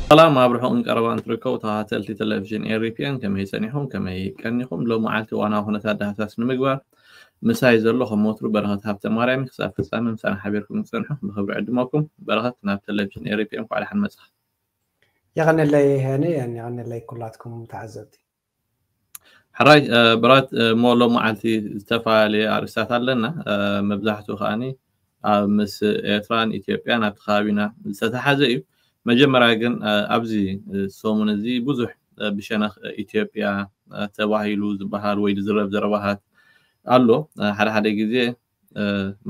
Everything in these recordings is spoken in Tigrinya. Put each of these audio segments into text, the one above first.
ሰላም ኣብ ርሑቕን ቀረባን ትርከቡ ተኸታተልቲ ቴሌቪዥን ኤሪፒኤን፣ ከመይ ጸኒኹም? ከመይ ቀኒኹም? ሎም መዓልቲ ዋና ኩነታት ዳህሳስ ንምግባር ምሳይ ዘሎ ከም ወትሩ በረኸት ሃብተ ማርያም። ክሳብ ፍጻመ ምሳና ሓቢርኩም ትጸንሑ ብኽብሪ ዕድመኩም። በረኸት ናብ ቴሌቪዥን ኤሪፒኤን እንኳዕ ደሓን መጻኻ። የቐነለይ ሄኒ፣ የቐነለይ ኩላትኩም ተዓዘብቲ። ሕራይ ብራት እሞ ሎም መዓልቲ ዝተፈላለየ ኣርእስታት ኣለና። መብዛሕትኡ ከዓኒ ኣብ ምስ ኤርትራን ኢትዮጵያን ኣብቲ ከባቢና ዝተተሓዘ እዩ። መጀመርያ ግን ኣብዚ ሰሙን እዚ ብዙሕ ብሸነኽ ኢትዮጵያ ተባሂሉ ዝበሃል ወይ ዝዝረብ ዘረባታት ኣሎ። ሓደ ሓደ ግዜ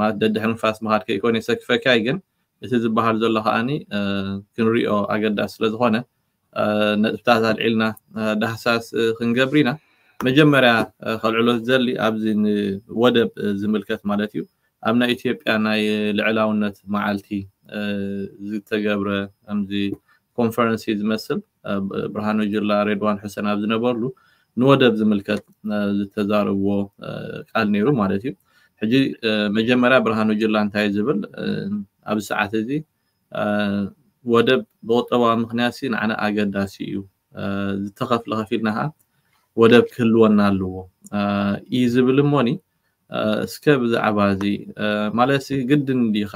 ማለት ደድሕሪ ንፋስ ምኻድ ከይኮነ የሰክፈካ እዩ፣ ግን እቲ ዝበሃል ዘሎ ከዓኒ ክንሪኦ ኣገዳሲ ስለዝኾነ ነጥብታት ኣልዒልና ዳህሳስ ክንገብር ኢና። መጀመርያ ከልዕሎ ዝደሊ ኣብዚ ንወደብ ዝምልከት ማለት እዩ። ኣብ ናይ ኢትዮጵያ ናይ ልዕላውነት መዓልቲ ዝተገብረ ከምዚ ኮንፈረንስ እዩ ዝመስል። ብርሃኑ ጁላ፣ ሬድዋን ሑሰን ኣብ ዝነበርሉ ንወደብ ዝምልከት ዝተዛረብዎ ቃል ነይሩ ማለት እዩ። ሕጂ መጀመርያ ብርሃኑ ጁላ እንታይ ዝብል ኣብዚ ሰዓት እዚ ወደብ ብቁጠባዊ ምኽንያት ሲ ንዓና ኣገዳሲ እዩ፣ ዝተኸፍለ ከፊልና ከዓ ወደብ ክህልወና ኣለዎ እዩ ዝብል። እሞኒ እስከ ብዛዕባ እዚ ማለት ሲ ግድን ዲኻ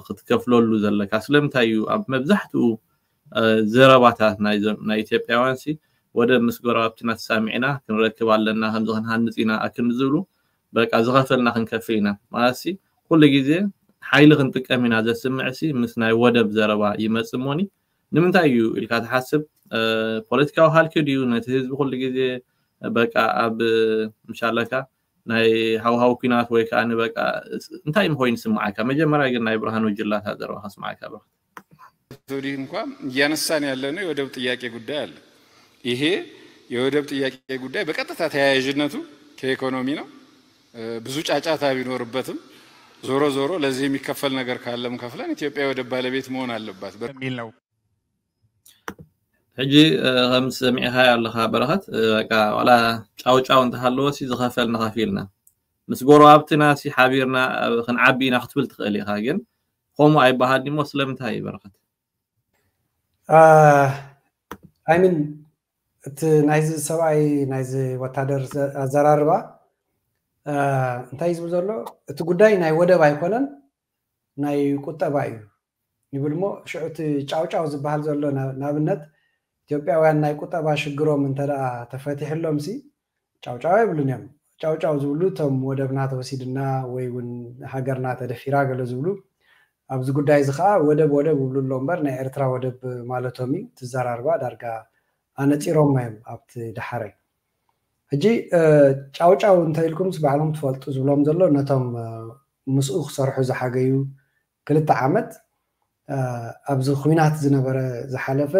ክትከፍለሉ ዘለካ? ስለምንታይ እዩ ኣብ መብዛሕትኡ ዘረባታት ናይ ኢትዮጵያውያን ሲ ወደብ ምስ ጎረባብትና ተሳሚዕና ክንረክብ ኣለና፣ ከምዚ ክንሃንፅ ኢና ኣክን ዝብሉ በቃ ዝኸፈልና ክንከፍል ኢና ማለት ሲ ኩሉ ግዜ ሓይሊ ክንጥቀም ኢና ዘስምዕ ሲ ምስ ናይ ወደብ ዘረባ ይመጽእ እሞኒ ንምንታይ እዩ ኢልካ ትሓስብ? ፖለቲካዊ ሃልኪ ድዩ ነቲ ህዝቢ ኩሉ ግዜ በቃ ኣብ ምሻለካ ናይ ሃውሃው ኩናት ወይ ከዓ ንበቃ እንታይ ምኮይኑ ይስምዓካ? መጀመርያ ግን ናይ ብርሃኑ ጅላታ ዘረባ ከስምዓካ ብርሃን። እንኳ እያነሳን ያለነው የወደብ ጥያቄ ጉዳይ አለ። ይሄ የወደብ ጥያቄ ጉዳይ በቀጥታ ተያያዥነቱ ከኢኮኖሚ ነው። ብዙ ጫጫታ ቢኖርበትም ዞሮ ዞሮ ለዚህ የሚከፈል ነገር ካለም ከፍለን ኢትዮጵያ የወደብ ባለቤት መሆን አለባት የሚል ነው። ሕጂ ከም ሰሚዕካ ኣለካ በረኸት፣ በቃ ዋላ ጫውጫው እንተሃለዎ ሲ ዝኸፈል ንኸፊልና ምስ ጎረባብትና ሲ ሓቢርና ክንዓቢ ኢና ክትብል ትኽእል ኢኻ። ግን ከምኡ ኣይበሃል ዲሞ? ስለምንታይ እዩ በረኸት? ኣይምን እቲ ናይዚ ሰብኣይ ናይዚ ወታደር ኣዘራርባ እንታይ ዝብል ዘሎ፣ እቲ ጉዳይ ናይ ወደብ ኣይኮነን ናይ ቁጠባ እዩ ይብል። እሞ ሽዑ እቲ ጫውጫው ዝበሃል ዘሎ ንኣብነት ኢትዮጵያውያን ናይ ቁጠባ ሽግሮም እንተ ተፈቲሕሎም ሲ ጫውጫው ኣይብሉን እዮም። ጫውጫው ዝብሉ እቶም ወደብና ተወሲድና ወይ እውን ሃገርና ተደፊራ ገለ ዝብሉ ኣብዚ ጉዳይ እዚ ከዓ ወደብ ወደብ ይብሉ ኣሎ እምበር ናይ ኤርትራ ወደብ ማለቶም እዩ። ትዘራርባ ዳርጋ ኣነፂሮም እዮም ኣብቲ ደሓረይ። ሕጂ ጫውጫው እንተ ኢልኩም ባዕሎም ትፈልጡ ዝብሎም ዘሎ ነቶም ምስኡ ክሰርሑ ዝሓገዩ ክልተ ዓመት ኣብዚ ኩናት ዝነበረ ዝሓለፈ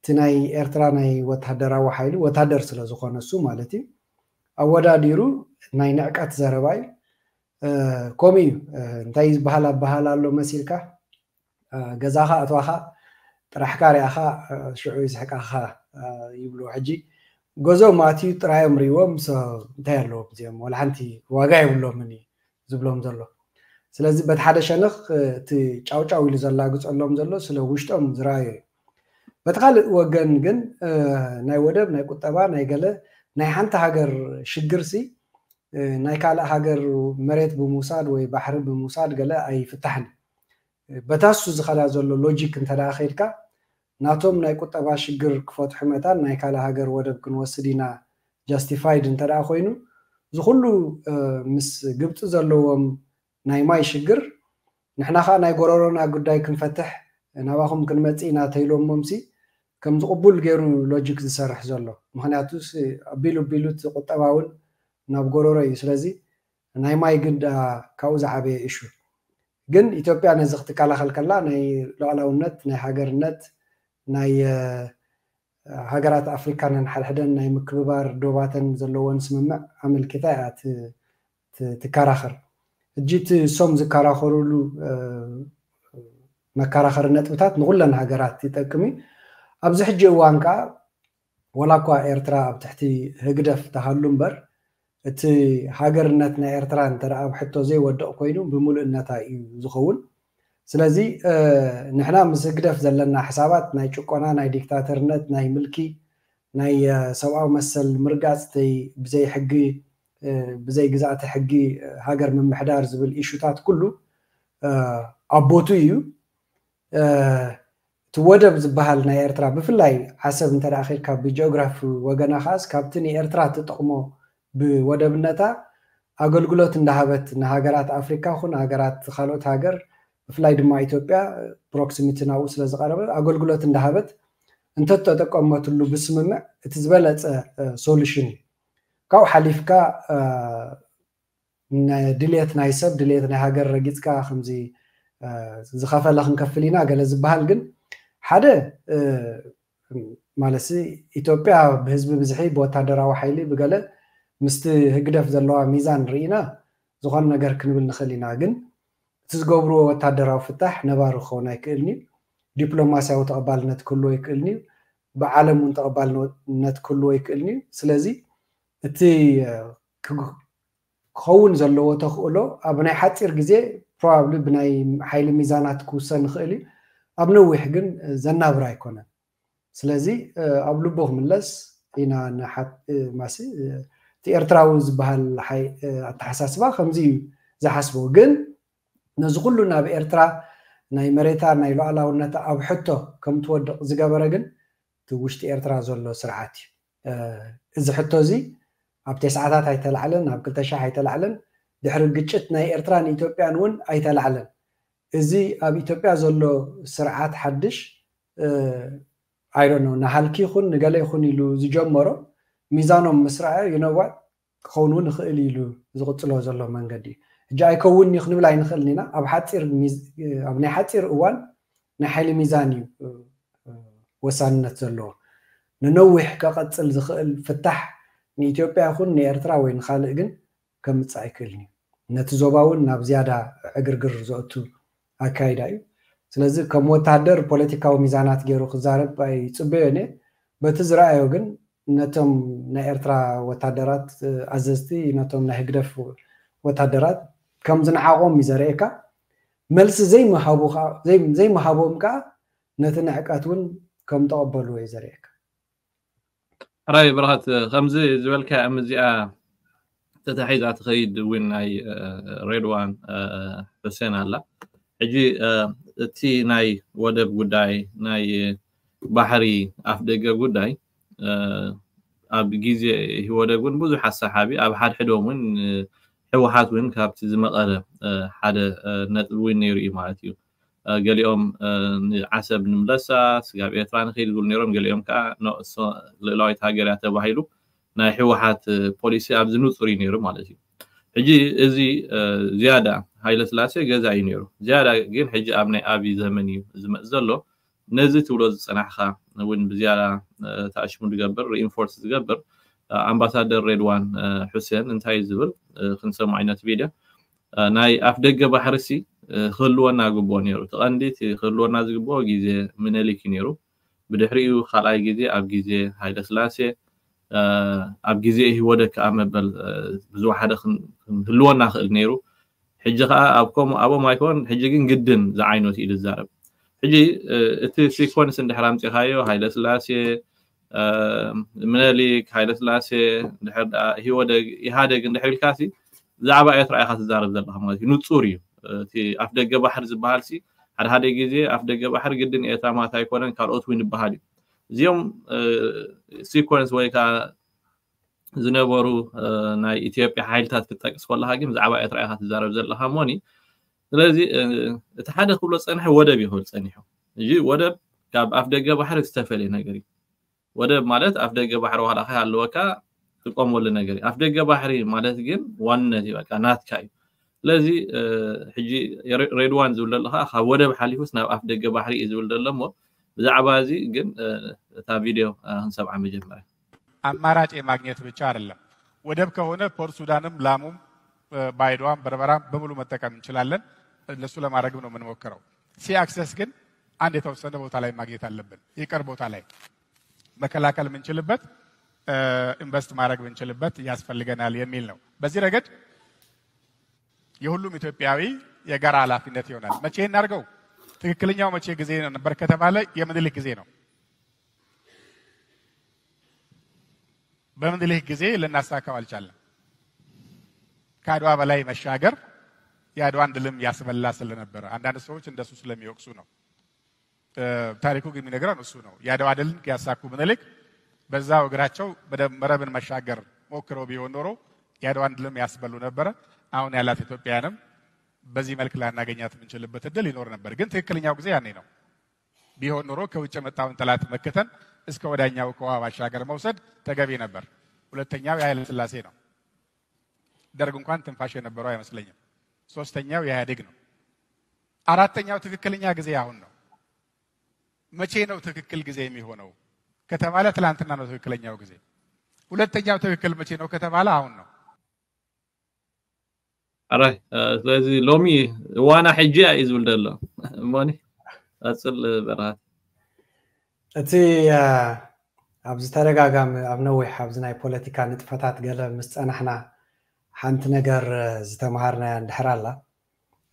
እቲ ናይ ኤርትራ ናይ ወታደራዊ ሓይሊ ወታደር ስለ ዝኾነ እሱ ማለት እዩ ኣወዳዲሩ ናይ ንዕቀት ዘረባ እዩ። ከምኡ እዩ እንታይ ዝበሃል ኣበሃል ኣሎ መሲልካ ገዛኻ ኣትዋኻ ጥራሕካ ሪኣኻ ሽዑ ይስሕቃኻ ይብሉ። ሕጂ ገዞም ኣትዩ ጥራዮም ሪዎም እንታይ ኣለዎም እዚኦም ወላ ሓንቲ ዋጋ የብሎምን እዩ ዝብሎም ዘሎ። ስለዚ በቲ ሓደ ሸነኽ እቲ ጫውጫው ኢሉ ዘላግፀሎም ዘሎ ስለ ውሽጦም ዝረኣዮ እዩ። በቲ ካልእ ወገን ግን ናይ ወደብ ናይ ቁጠባ ናይ ገለ ናይ ሓንቲ ሃገር ሽግር ሲ ናይ ካልእ ሃገር መሬት ብምውሳድ ወይ ባሕሪ ብምውሳድ ገለ ኣይፍታሕን። በታሱ ዝኸዳ ዘሎ ሎጂክ እንተ ከይድካ ናቶም ናይ ቁጠባ ሽግር ክፈትሑ መታን ናይ ካልእ ሃገር ወደብ ክንወስድ ኢና ጃስቲፋይድ እንተ ኮይኑ ዝኩሉ ምስ ግብፂ ዘለዎም ናይ ማይ ሽግር ንሕና ከዓ ናይ ጎረሮና ጉዳይ ክንፈትሕ ናባኹም ክንመፅእ ኢና ተይሎሞምሲ ከምዚ ቅቡል ገይሩ ሎጂክ ዝሰርሕ ዘሎ። ምክንያቱ ኣቢሉ ኣቢሉ እቲ ቁጠባ እውን ናብ ጎረሮ እዩ። ስለዚ ናይ ማይ ግዳ ካብኡ ዝዓበየ እሹ ግን ኢትዮጵያ ነዚ ክትከላኸል ከላ ናይ ሉዓላውነት ናይ ሃገርነት ናይ ሃገራት ኣፍሪካ ነንሓድሕደን ናይ ምክብባር ዶባተን ዘለዎን ስምምዕ ኣመልኪታ እያ ትከራኸር። ሕጂ እቲ እሶም ዝከራኸሩሉ መከራኸሪ ነጥብታት ንኩለን ሃገራት ይጠቅም እዩ። ኣብዚ ሕጂ እዋን ከዓ ወላ እኳ ኤርትራ ኣብ ትሕቲ ህግደፍ ተሃሉ እምበር እቲ ሃገርነት ናይ ኤርትራ እንተ ኣብ ሕቶ ዘይወድቕ ኮይኑ ብምሉእነታ እዩ ዝኸውን። ስለዚ ንሕና ምስ ህግደፍ ዘለና ሕሳባት ናይ ጭቆና፣ ናይ ዲክታተርነት፣ ናይ ምልኪ፣ ናይ ሰብኣዊ መሰል ምርጋፅተይ፣ ብዘይ ሕጊ ብዘይ ግዛእቲ ሕጊ ሃገር ምምሕዳር ዝብል ኢሹታት ኩሉ ኣብ ቦቱ እዩ። እቲ ወደብ ዝበሃል ናይ ኤርትራ፣ ብፍላይ ዓሰብ እንተ ደኣ ኸድካ ብጂኦግራፊ ወገና ኸኣስ ካብቲ ንኤርትራ ትጠቕሞ ብወደብነታ ኣገልግሎት እንዳሃበት ንሃገራት ኣፍሪካ ኹን ሃገራት ካልኦት ሃገር፣ ብፍላይ ድማ ኢትዮጵያ ፕሮክሲሚቲ ናብኡ ስለ ዝቐረበ ኣገልግሎት እንዳሃበት እንተተጠቀመትሉ ብስምምዕ እቲ ዝበለፀ ሶሉሽን እዩ። ካብኡ ሓሊፍካ ድልየት ናይ ሰብ ድልየት ናይ ሃገር ረጊፅካ ከምዚ ዝኸፈለ ክንከፍል ኢና ገለ ዝበሃል ግን ሓደ ማለት ኢትዮጵያ ብህዝቢ ብዝሒ ብወታደራዊ ሓይሊ ብገለ ምስቲ ህግደፍ ዘለዋ ሚዛን ርኢና ዝኾነ ነገር ክንብል ንኽእል ኢና። ግን እቲ ዝገብርዎ ወታደራዊ ፍታሕ ነባሪ ክኸውን ኣይክእልን እዩ። ዲፕሎማስያዊ ተቐባልነት ክህልዎ ኣይክእልን እዩ። ብዓለም እውን ተቐባልነት ክህልዎ ኣይክእልን እዩ። ስለዚ እቲ ክኸውን ዘለዎ ተኽእሎ ኣብ ናይ ሓፂር ግዜ ፕሮባብሊ ብናይ ሓይሊ ሚዛናት ክውሰን ይኽእል እዩ። ኣብ ነዊሕ ግን ዘናብር ኣይኮነን። ስለዚ ኣብ ልቡ ክምለስ ኢና። ማሲ እቲ ኤርትራዊ ዝበሃል ኣተሓሳስባ ከምዚ እዩ ዝሓስቦ። ግን ነዚ ኩሉ ናብ ኤርትራ ናይ መሬታ ናይ ሉዓላውነታ ኣብ ሕቶ ከም ትወድቕ ዝገበረ ግን እቲ ውሽጢ ኤርትራ ዘሎ ስርዓት እዩ። እዚ ሕቶ እዚ ኣብ ተስዓታት ኣይተላዕለን፣ ኣብ ክልተ ሺሕ ኣይተላዕለን። ድሕሪ ግጭት ናይ ኤርትራን ኢትዮጵያን እውን ኣይተላዕለን። እዚ ኣብ ኢትዮጵያ ዘሎ ስርዓት ሓድሽ ኣይዶኖ ንሃልኪ ይኹን ንገለ ይኹን ኢሉ ዝጀመሮ ሚዛኖም ምስ ረኣዮ ይነዋት ክኸውን እውን ይኽእል ኢሉ ዝቕፅሎ ዘሎ መንገዲ እዩ። ሕጂ ኣይከውን እዩ ክንብል ኣይንኽእልን ኢና። ኣብ ሓፂር ኣብ ናይ ሓፂር እዋን ናይ ሓይሊ ሚዛን እዩ ወሳንነት ዘለዎ። ንነዊሕ ከቐፅል ዝኽእል ፍታሕ ንኢትዮጵያ ይኹን ንኤርትራ ወይ ንኻልእ ግን ከምፅእ ኣይክእልን እዩ። ነቲ ዞባ እውን ናብ ዝያዳ ዕግርግር ዘእቱ ኣካይዳ እዩ። ስለዚ ከም ወታደር ፖለቲካዊ ሚዛናት ገይሩ ክዛረብ ኣይፅበዮን እየ። በቲ ዝረኣዮ ግን ነቶም ናይ ኤርትራ ወታደራት ኣዘዝቲ ነቶም ናይ ህግደፍ ወታደራት ከም ዝነዓቖም እዩ ዘርእየካ። መልሲ ዘይምሃቦም ከዓ ነቲ ንዕቀት እውን ከም ተቐበልዎ እዩ ዘርእየካ። ሕራይ ብርሃት ከምዚ ዝበልካ እምዚኣ ተታሒዛ ትኸይድ እውን ናይ ሬድዋን ሕሴን ኣላ። ሕጂ እቲ ናይ ወደብ ጉዳይ ናይ ባሕሪ ኣፍ ደገ ጉዳይ ኣብ ግዜ ኢህወደግ እውን ብዙሕ ኣሰሓቢ ኣብ ሓድሕዶም እውን ህወሓት እውን ካብቲ ዝመቐለ ሓደ ነጥቢ እውን ነይሩ እዩ ማለት እዩ። ገሊኦም ንዓሰብ ንምለሳ ስጋብ ኤርትራ ንኸይድ ዝብሉ ነይሮም። ገሊኦም ከዓ ልእላዊት ሃገር እያ ተባሂሉ ናይ ህወሓት ፖሊሲ ኣብዚ ንፁር እዩ ነይሩ ማለት እዩ። ሕጂ እዚ ዝያዳ ሃይለ ስላሴ ገዛ እዩ ነይሩ። ዝያዳ ግን ሕጂ ኣብ ናይ ኣብይ ዘመን እዩ ዝመፅ ዘሎ። ነዚ ትብሎ ዝፀናሕካ እውን ብዝያዳ ተኣሽሙ ዝገብር ሪኢንፎርስ ዝገብር ኣምባሳደር ሬድዋን ሑሴን እንታይ ዝብል ክንሰምዖ ዓይነት ቪድዮ ናይ ኣፍ ደገ ባሕርሲ ክህልወና ግብኦ ነይሩ። እቲ ቀንዲ ክህልወና ዝግብኦ ግዜ ምነሊክ እዩ ነይሩ። ብድሕሪኡ ካልኣይ ግዜ ኣብ ግዜ ሃይለ ስላሴ ኣብ ግዜ ኢህወደግ ከዓ መበል ብዝወሓደ ክንህልወና ክእል ነይሩ። ሕጂ ከዓ ኣብ ከምኡ ኣብኦም ኣይኮን ሕጂ ግን ግድን ዝዓይነቱ እዩ ዝዛረብ። ሕጂ እቲ ሲኮንስ እንድሕር ኣምፂኻዮ ሃይለ ስላሴ ምነሊክ ሃይለ ስላሴ ድሕር ኢህወደግ ኢሃደግ እንድሕር ኢልካሲ ብዛዕባ ኤርትራ ኢኻ ትዛረብ ዘለኻ ማለት እዩ። ንፁር እዩ። እቲ ኣፍ ደገ ባሕሪ ዝበሃል ሲ ሓደ ሓደ ግዜ ኣፍ ደገ ባሕሪ ግድን ኤርትራ ማለት ኣይኮነን ካልኦት እውን ይበሃል እዩ። እዚኦም ሲኮንስ ወይ ከዓ ዝነበሩ ናይ ኢትዮጵያ ሓይልታት ክትጠቅስ ከለካ ግን ብዛዕባ ኤርትራ ኢካ ትዛረብ ዘለካ ሞኒ። ስለዚ እቲ ሓደ ክብሎ ፀንሐ ወደብ ይክብል ፀኒሑ። እዚ ወደብ ካብ ኣፍ ደገ ባሕሪ ዝተፈለየ ነገር እዩ። ወደብ ማለት ኣፍ ደገ ባሕሪ ዋላ ከ ኣለወካ ትቆመሉ ነገር እዩ። ኣፍ ደገ ባሕሪ ማለት ግን ዋንነት እዩ፣ በቃ ናትካ እዩ። ስለዚ ሕጂ ሬድዋን ዝብል ዘለካ ካብ ወደብ ሓሊፉስ ናብ ኣፍ ደገ ባሕሪ እዩ ዝብል ዘሎ እሞ ብዛዕባ እዚ ግን እታ ቪድዮ ክንሰምዓ መጀመርያ። አማራጭ የማግኘት ብቻ አይደለም። ወደብ ከሆነ ፖርት ሱዳንም ላሙም ባይዶዋም በርበራም በሙሉ መጠቀም እንችላለን። ለሱ ለማድረግም ነው የምንሞክረው። ሲ አክሰስ ግን አንድ የተወሰነ ቦታ ላይ ማግኘት አለብን። ይቅር ቦታ ላይ መከላከል የምንችልበት ኢንቨስት ማድረግ የምንችልበት ያስፈልገናል የሚል ነው። በዚህ ረገድ የሁሉም ኢትዮጵያዊ የጋራ ኃላፊነት ይሆናል። መቼ እናድርገው? ትክክለኛው መቼ ጊዜ ነበር ከተባለ የምኒልክ ጊዜ ነው። በምኒልክ ጊዜ ልናሳካው አልቻለም። ከአድዋ በላይ መሻገር የአድዋን ድልም ያስበላ ስለነበረ አንዳንድ ሰዎች እንደሱ ስለሚወቅሱ ነው። ታሪኩ ግን የሚነግረን እሱ ነው። የአድዋ ድልን ያሳኩ ምኒልክ በዛው እግራቸው መረብን መሻገር ሞክረው ቢሆን ኖሮ የአድዋን ድልም ያስበሉ ነበረ። አሁን ያላት ኢትዮጵያንም በዚህ መልክ ላናገኛት የምንችልበት እድል ይኖር ነበር። ግን ትክክለኛው ጊዜ ያኔ ነው። ቢሆን ኖሮ ከውጭ የመጣውን ጠላት መክተን እስከ ወዳኛው ከውሃ ባሻገር መውሰድ ተገቢ ነበር። ሁለተኛው የኃይለ ሥላሴ ነው። ደርግ እንኳን ትንፋሽ የነበረው አይመስለኝም። ሶስተኛው የኢህአዴግ ነው። አራተኛው ትክክለኛ ጊዜ አሁን ነው። መቼ ነው ትክክል ጊዜ የሚሆነው ከተባለ ትላንትና ነው ትክክለኛው ጊዜ። ሁለተኛው ትክክል መቼ ነው ከተባለ አሁን ነው። ኣራይ ስለዚ ሎሚ እዋና ሕጂ እዩ ዝብል ዘሎ እሞኒ ቀፅል በረሃት። እቲ ኣብ ዝተደጋጋሚ ኣብ ነዊሕ ኣብዚ ናይ ፖለቲካ ንጥፈታት ገለ ምስ ፀናሕና ሓንቲ ነገር ዝተምሃርናያ እንድሕር ኣላ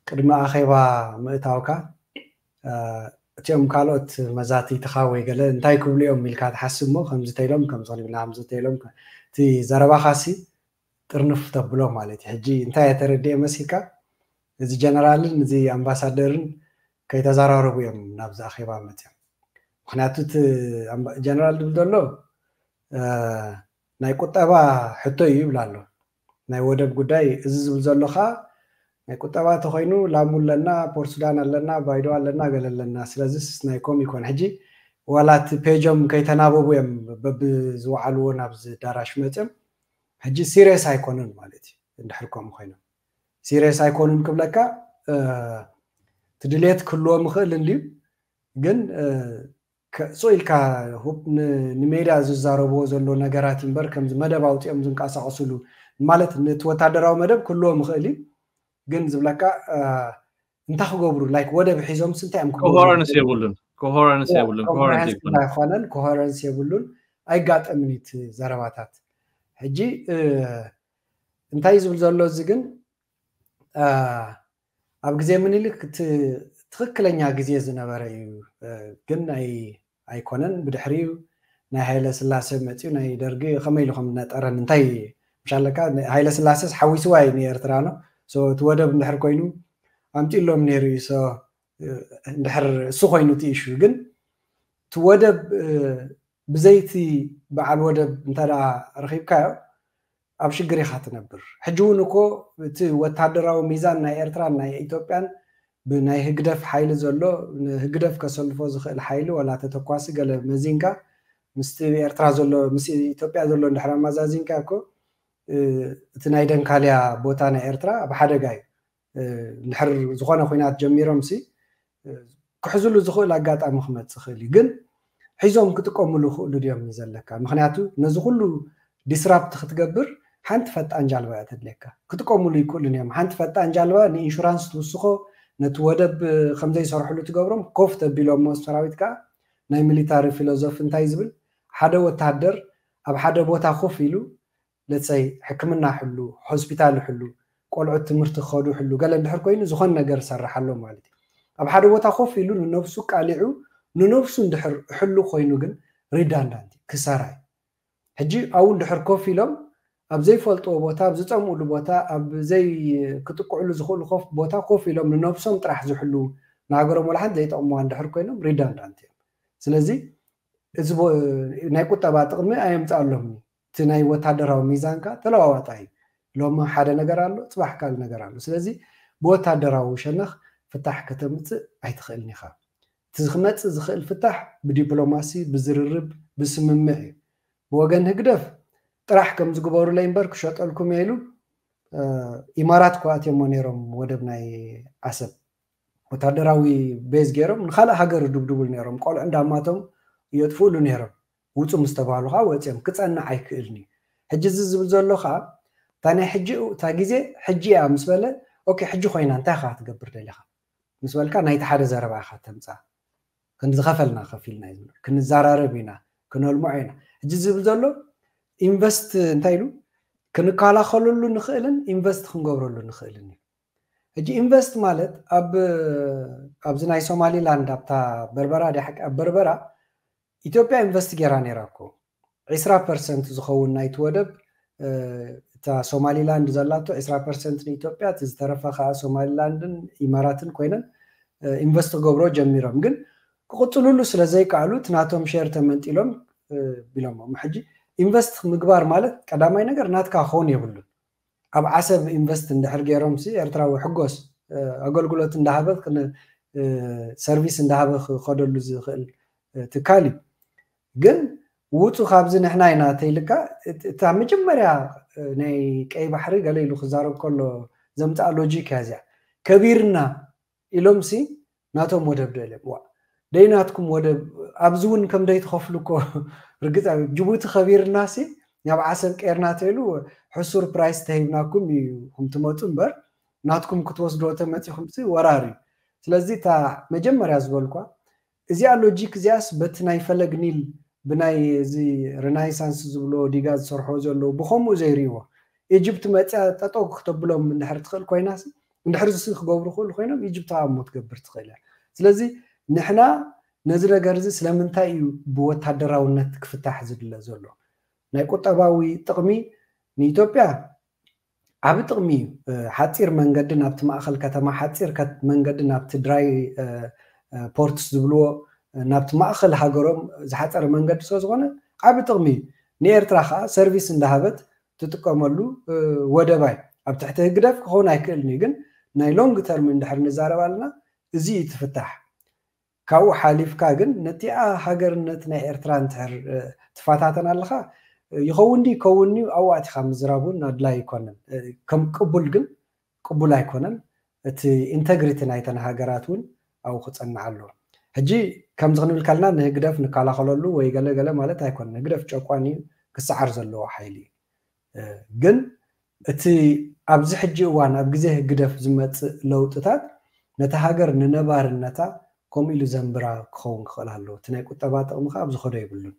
ቅድሚ ኣኼባ ምእታውካ እቲኦም ካልኦት መዛትይትኻ ወይ ገለ እንታይ ክብሉ እዮም ኢልካ ትሓስብ እሞ ከምዚ ተይሎም ከምዚ ክልብና ከምዚ ተይሎም እቲ ዘረባኻሲ ጥርንፍ ተብሎ ማለት እዩ። ሕጂ እንታይ የተረድኤ መሲልካ እዚ ጀነራልን እዚ ኣምባሳደርን ከይተዘራረቡ እዮም ናብዚ ኣኼባ መፅዮም። ምክንያቱ እቲ ጀነራል ዝብል ዘሎ ናይ ቁጠባ ሕቶ እዩ ይብል ኣሎ። ናይ ወደብ ጉዳይ እዚ ዝብል ዘሎ ከዓ ናይ ቁጠባ ተኮይኑ ላሙ ኣለና፣ ፖርት ሱዳን ኣለና፣ ባይዶ ኣለና፣ ገለ ኣለና። ስለዚስ ናይ ኮም ይኮን ሕጂ ዋላ እቲ ፔጆም ከይተናበቡ እዮም በብዝወዓልዎ ናብዚ ዳራሽ መፅዮም። ሕጂ ሲሪየስ ኣይኮኑን ማለት እዩ። እንድሕር ከምኡ ኮይኖም ሲሪየስ ኣይኮኑን ክብለካ እቲ ድሌት ክህልዎም ይኽእል እንድዩ ግን ስቕ ኢልካ ንሜድያ ዝዛረብዎ ዘሎ ነገራት እምበር ከምዚ መደብ ኣውፂኦም ዝንቀሳቀስሉ ማለት ነቲ ወታደራዊ መደብ ክህልዎም ይኽእል እዩ ግን ዝብለካ እንታይ ክገብሩ ላይክ ወደብ ሒዞምስ እንታይ እዮም ክገብሩ? ኮሄረንስ የብሉን። ኮሄረንስ የብሉን። ኮሄረንስ ኮሄረንስ ኣይኮነን። ኮሄረንስ የብሉን። ኣይጋጠምን እዩ እቲ ዘረባታት። ሕጂ እንታይ ዝብል ዘሎ እዚ ግን ኣብ ግዜ ምኒልክ እቲ ትኽክለኛ ግዜ ዝነበረ እዩ ግን ናይ ኣይኮነን ብድሕሪኡ ናይ ሃይለ ስላሴ መፅኡ ናይ ደርጊ ከመይ ኢሉ ከም ዝነጠረን እንታይ ምሻለካ ሃይለ ስላሴስ ሓዊስዋ እዩ ንኤርትራ ነው እቲ ወደብ እንድሕር ኮይኑ ኣምፂሎም ነይሩ እዩ እንድሕር እሱ ኮይኑ እቲ ኢሹ ግን እቲ ወደብ ብዘይቲ በዓል ወደብ እንተ ረኺብካዮ ኣብ ሽግር ኢኻ ትነብር ሕጂ እውን እኮ እቲ ወታደራዊ ሚዛን ናይ ኤርትራን ናይ ኢትዮጵያን ብናይ ህግደፍ ሓይሊ ዘሎ ህግደፍ ከሰልፎ ዝኽእል ሓይሊ ወላ ተተኳሲ ገለ መዚንካ ምስቲ ኤርትራ ዘሎ ምስ ኢትዮጵያ ዘሎ እንድሕር ኣማዛዚንካ እኮ እቲ ናይ ደንካልያ ቦታ ናይ ኤርትራ ኣብ ሓደጋ እዩ እንድሕር ዝኾነ ኩናት ጀሚሮም ሲ ክሕዝሉ ዝኽእል ኣጋጣሚ ክመፅእ ይኽእል እዩ ግን ሒዞም ክጥቀምሉ ይኽእሉ ድዮም እዩ ዘለካ ምክንያቱ ነዚ ኩሉ ዲስራፕት ክትገብር ሓንቲ ፈጣን ጃልባ እያ ተድልየካ ክጥቀምሉ ይክእሉን እዮም ሓንቲ ፈጣን ጃልባ ንኢንሹራንስ ትውስኮ ነቲ ወደብ ከምዘይሰርሕሉ ትገብሮም ኮፍ ተቢሎሞ ሰራዊት ከዓ ናይ ሚሊታሪ ፊሎዞፊ እንታይ ዝብል ሓደ ወታደር ኣብ ሓደ ቦታ ኮፍ ኢሉ ለፀይ ሕክምና ሕሉ ሆስፒታል ሕሉ ቆልዑት ትምህርቲ ክኸዱ ሕሉ ገለ እንድሕር ኮይኑ ዝኾን ነገር ሰርሓሎ ማለት እዩ ኣብ ሓደ ቦታ ኮፍ ኢሉ ንነብሱ ቃሊዑ ንነብሱ እንድሕር ሕሉ ኮይኑ ግን ሪዳንዳንት ክሰራ እዩ ሕጂ ኣብኡ እንድሕር ኮፍ ኢሎም ኣብ ዘይፈልጥዎ ቦታ ኣብ ዝፀምኡሉ ቦታ ኣብ ዘይ ክጥቅዕሉ ዝኽእሉ ኮፍ ቦታ ኮፍ ኢሎም ንነብሶም ጥራሕ ዝሕሉ ንሃገሮም ወላ ሓንቲ ዘይጠቕምዋ እንድሕር ኮይኖም ሪዳንዳንት እዮም ስለዚ እዚ ናይ ቁጠባ ጥቕሚ ኣየምፃኣሎምን እቲ ናይ ወታደራዊ ሚዛንካ ተለዋዋጣ እዩ ሎሚ ሓደ ነገር ኣሎ ፅባሕ ካልእ ነገር ኣሎ ስለዚ ብወታደራዊ ሸነኽ ፍታሕ ከተምፅእ ኣይትኽእልን ኢኻ እቲ ክመፅእ ዝኽእል ፍታሕ ብዲፕሎማሲ ብዝርርብ ብስምምዕ እዩ ብወገን ህግደፍ ጥራሕ ከም ዝግበሩለይ እምበር ክሸጠልኩም እየ ኢሉ ኢማራት እኮ ኣትዮሞ ነይሮም ወደብ ናይ ዓሰብ ወታደራዊ ቤዝ ገይሮም ንካልእ ሃገር ድብድቡሉ ነይሮም ቆልዑ እንዳማቶም የጥፍእሉ ነይሮም ውፁ ምስ ተባህሉ ከዓ ወፂኦም ክፀንዕ ኣይክእልን እዩ ሕጂ እዚ ዝብል ዘሎ ከዓ እታ ናይ ሕጂ እታ ግዜ ሕጂ እያ ምስ በለ ኦኬ ሕጂ ኮይና እንታይ ከዓ ትገብር ደሊካ ምስ በልካ ናይቲ ሓደ ዘረባ ኢካ ተምፃ ክንዝኸፈልና ከፊልና እዩ ክንዘራረብ ኢና ክነልምዖ ኢና ሕጂ ዝብል ዘሎ ኢንቨስት እንታይ ኢሉ ክንከላኸለሉ ንኽእልን ኢንቨስት ክንገብረሉ ንኽእልን እዩ ሕጂ ኢንቨስት ማለት ኣብ ኣብዚ ናይ ሶማሊላንድ ኣብታ በርበራ ድያ ሓቂ ኣብ በርበራ ኢትዮጵያ ኢንቨስት ገይራ ነይራ እኮ ዕስራ ፐርሰንት ዝኸውን ናይቲ ወደብ እታ ሶማሊላንድ ዘላቶ ዕስራ ፐርሰንት ንኢትዮጵያ እቲ ዝተረፈ ከዓ ሶማሊላንድን ኢማራትን ኮይነን ኢንቨስት ክገብሮ ጀሚሮም ግን ክቕፅሉሉ ስለ ዘይከኣሉ እቲ ናቶም ሼር ተመንጢሎም ቢሎሞም ሕጂ ኢንቨስት ምግባር ማለት ቀዳማይ ነገር ናትካ ክኸውን የብሉን ኣብ ዓሰብ ኢንቨስት እንድሕር ገይሮም ሲ ኤርትራዊ ሕጎስ ኣገልግሎት እንዳሃበ ሰርቪስ እንዳሃበ ክኸደሉ ዝኽእል ትካል እዩ ግን ውፁ ካብዚ ንሕና ኢና ተይልካ እታ መጀመርያ ናይ ቀይ ባሕሪ ገለ ኢሉ ክዛረብ ከሎ ዘምፅኣ ሎጂክ እያ እዚኣ ከቢርና ኢሎም ሲ ናቶም ወደብ ዶ ኢሎም ዋ ደይናትኩም ወደብ ኣብዚ እውን ከም ደይትኸፍሉ እኮ ርግፅ ጅቡቲ ከቢርና ሲ ናብ ዓሰብ ቀይርና ተይሉ ሕሱር ፕራይስ ተሂብናኩም እዩ ኩም ትመፁ እምበር ናትኩም ክትወስድዎ ተመፂኹም ሲ ወራር እዩ ስለዚ እታ መጀመርያ ዝበልኳ እዚኣ ሎጂክ እዚኣስ በቲ ናይ ፈለግ ኒል ብናይ እዚ ሬናይሳንስ ዝብሎ ዲጋ ዝሰርሖ ዘለዉ ብከምኡ ዘይርእይዎ ኢጅፕት መፅያ ጠጠው ክተብሎም እንድሕር ትኽእል ኮይና እንድሕር ዝስ ክገብሩ ክእሉ ኮይኖም ኢጅፕት ኣሞ ትገብር ትኽእል እያ ስለዚ ንሕና ነዚ ነገር እዚ ስለምንታይ እዩ ብወታደራውነት ክፍታሕ ዝድለ ዘሎ ናይ ቁጠባዊ ጥቕሚ ንኢትዮጵያ ዓቢ ጥቕሚ እዩ ሓፂር መንገዲ ናብቲ ማእኸል ከተማ ሓፂር መንገዲ ናብቲ ድራይ ፖርትስ ዝብልዎ ናብቲ ማእኸል ሃገሮም ዝሓፀረ መንገዲ ስለ ዝኾነ ዓቢ ጥቕሚ እዩ ንኤርትራ ከዓ ሰርቪስ እንዳሃበት ትጥቀመሉ ወደባይ ኣብ ትሕቲ ህግደፍ ክኸውን ኣይክእልን እዩ ግን ናይ ሎንግ ተርም እንድሕር ንዛረብ ኣለና እዚ እዩ ትፍታሕ ካብኡ ሓሊፍካ ግን ነቲኣ ሃገርነት ናይ ኤርትራ እንትሕር ትፈታተን ኣለኻ ይኸውን ዲ ይከውን ዩ ኣብኡ ኣቲኻ ምዝራብ እውን ኣድላይ ኣይኮነን ከም ቅቡል ግን ቅቡል ኣይኮነን እቲ ኢንተግሪቲ ናይተን ሃገራት እውን ኣብኡ ክፀንዕ ኣለዎ ሕጂ ከምዚ ክንብል ከልና ንህግደፍ ንከላኸለሉ ወይ ገለገለ ማለት ኣይኮነን ህግደፍ ጨቋን እዩ ክሰዓር ዘለዎ ሓይሊ እዩ ግን እቲ ኣብዚ ሕጂ እዋን ኣብ ግዜ ህግደፍ ዝመፅእ ለውጥታት ነቲ ሃገር ንነባርነታ ከምኡ ኢሉ ዘንብራ ክኸውን ክኽእል ኣለዎ እቲ ናይ ቁጠባ ጥቕሚ ከዓ ኣብ ዝኸዶ የብሉን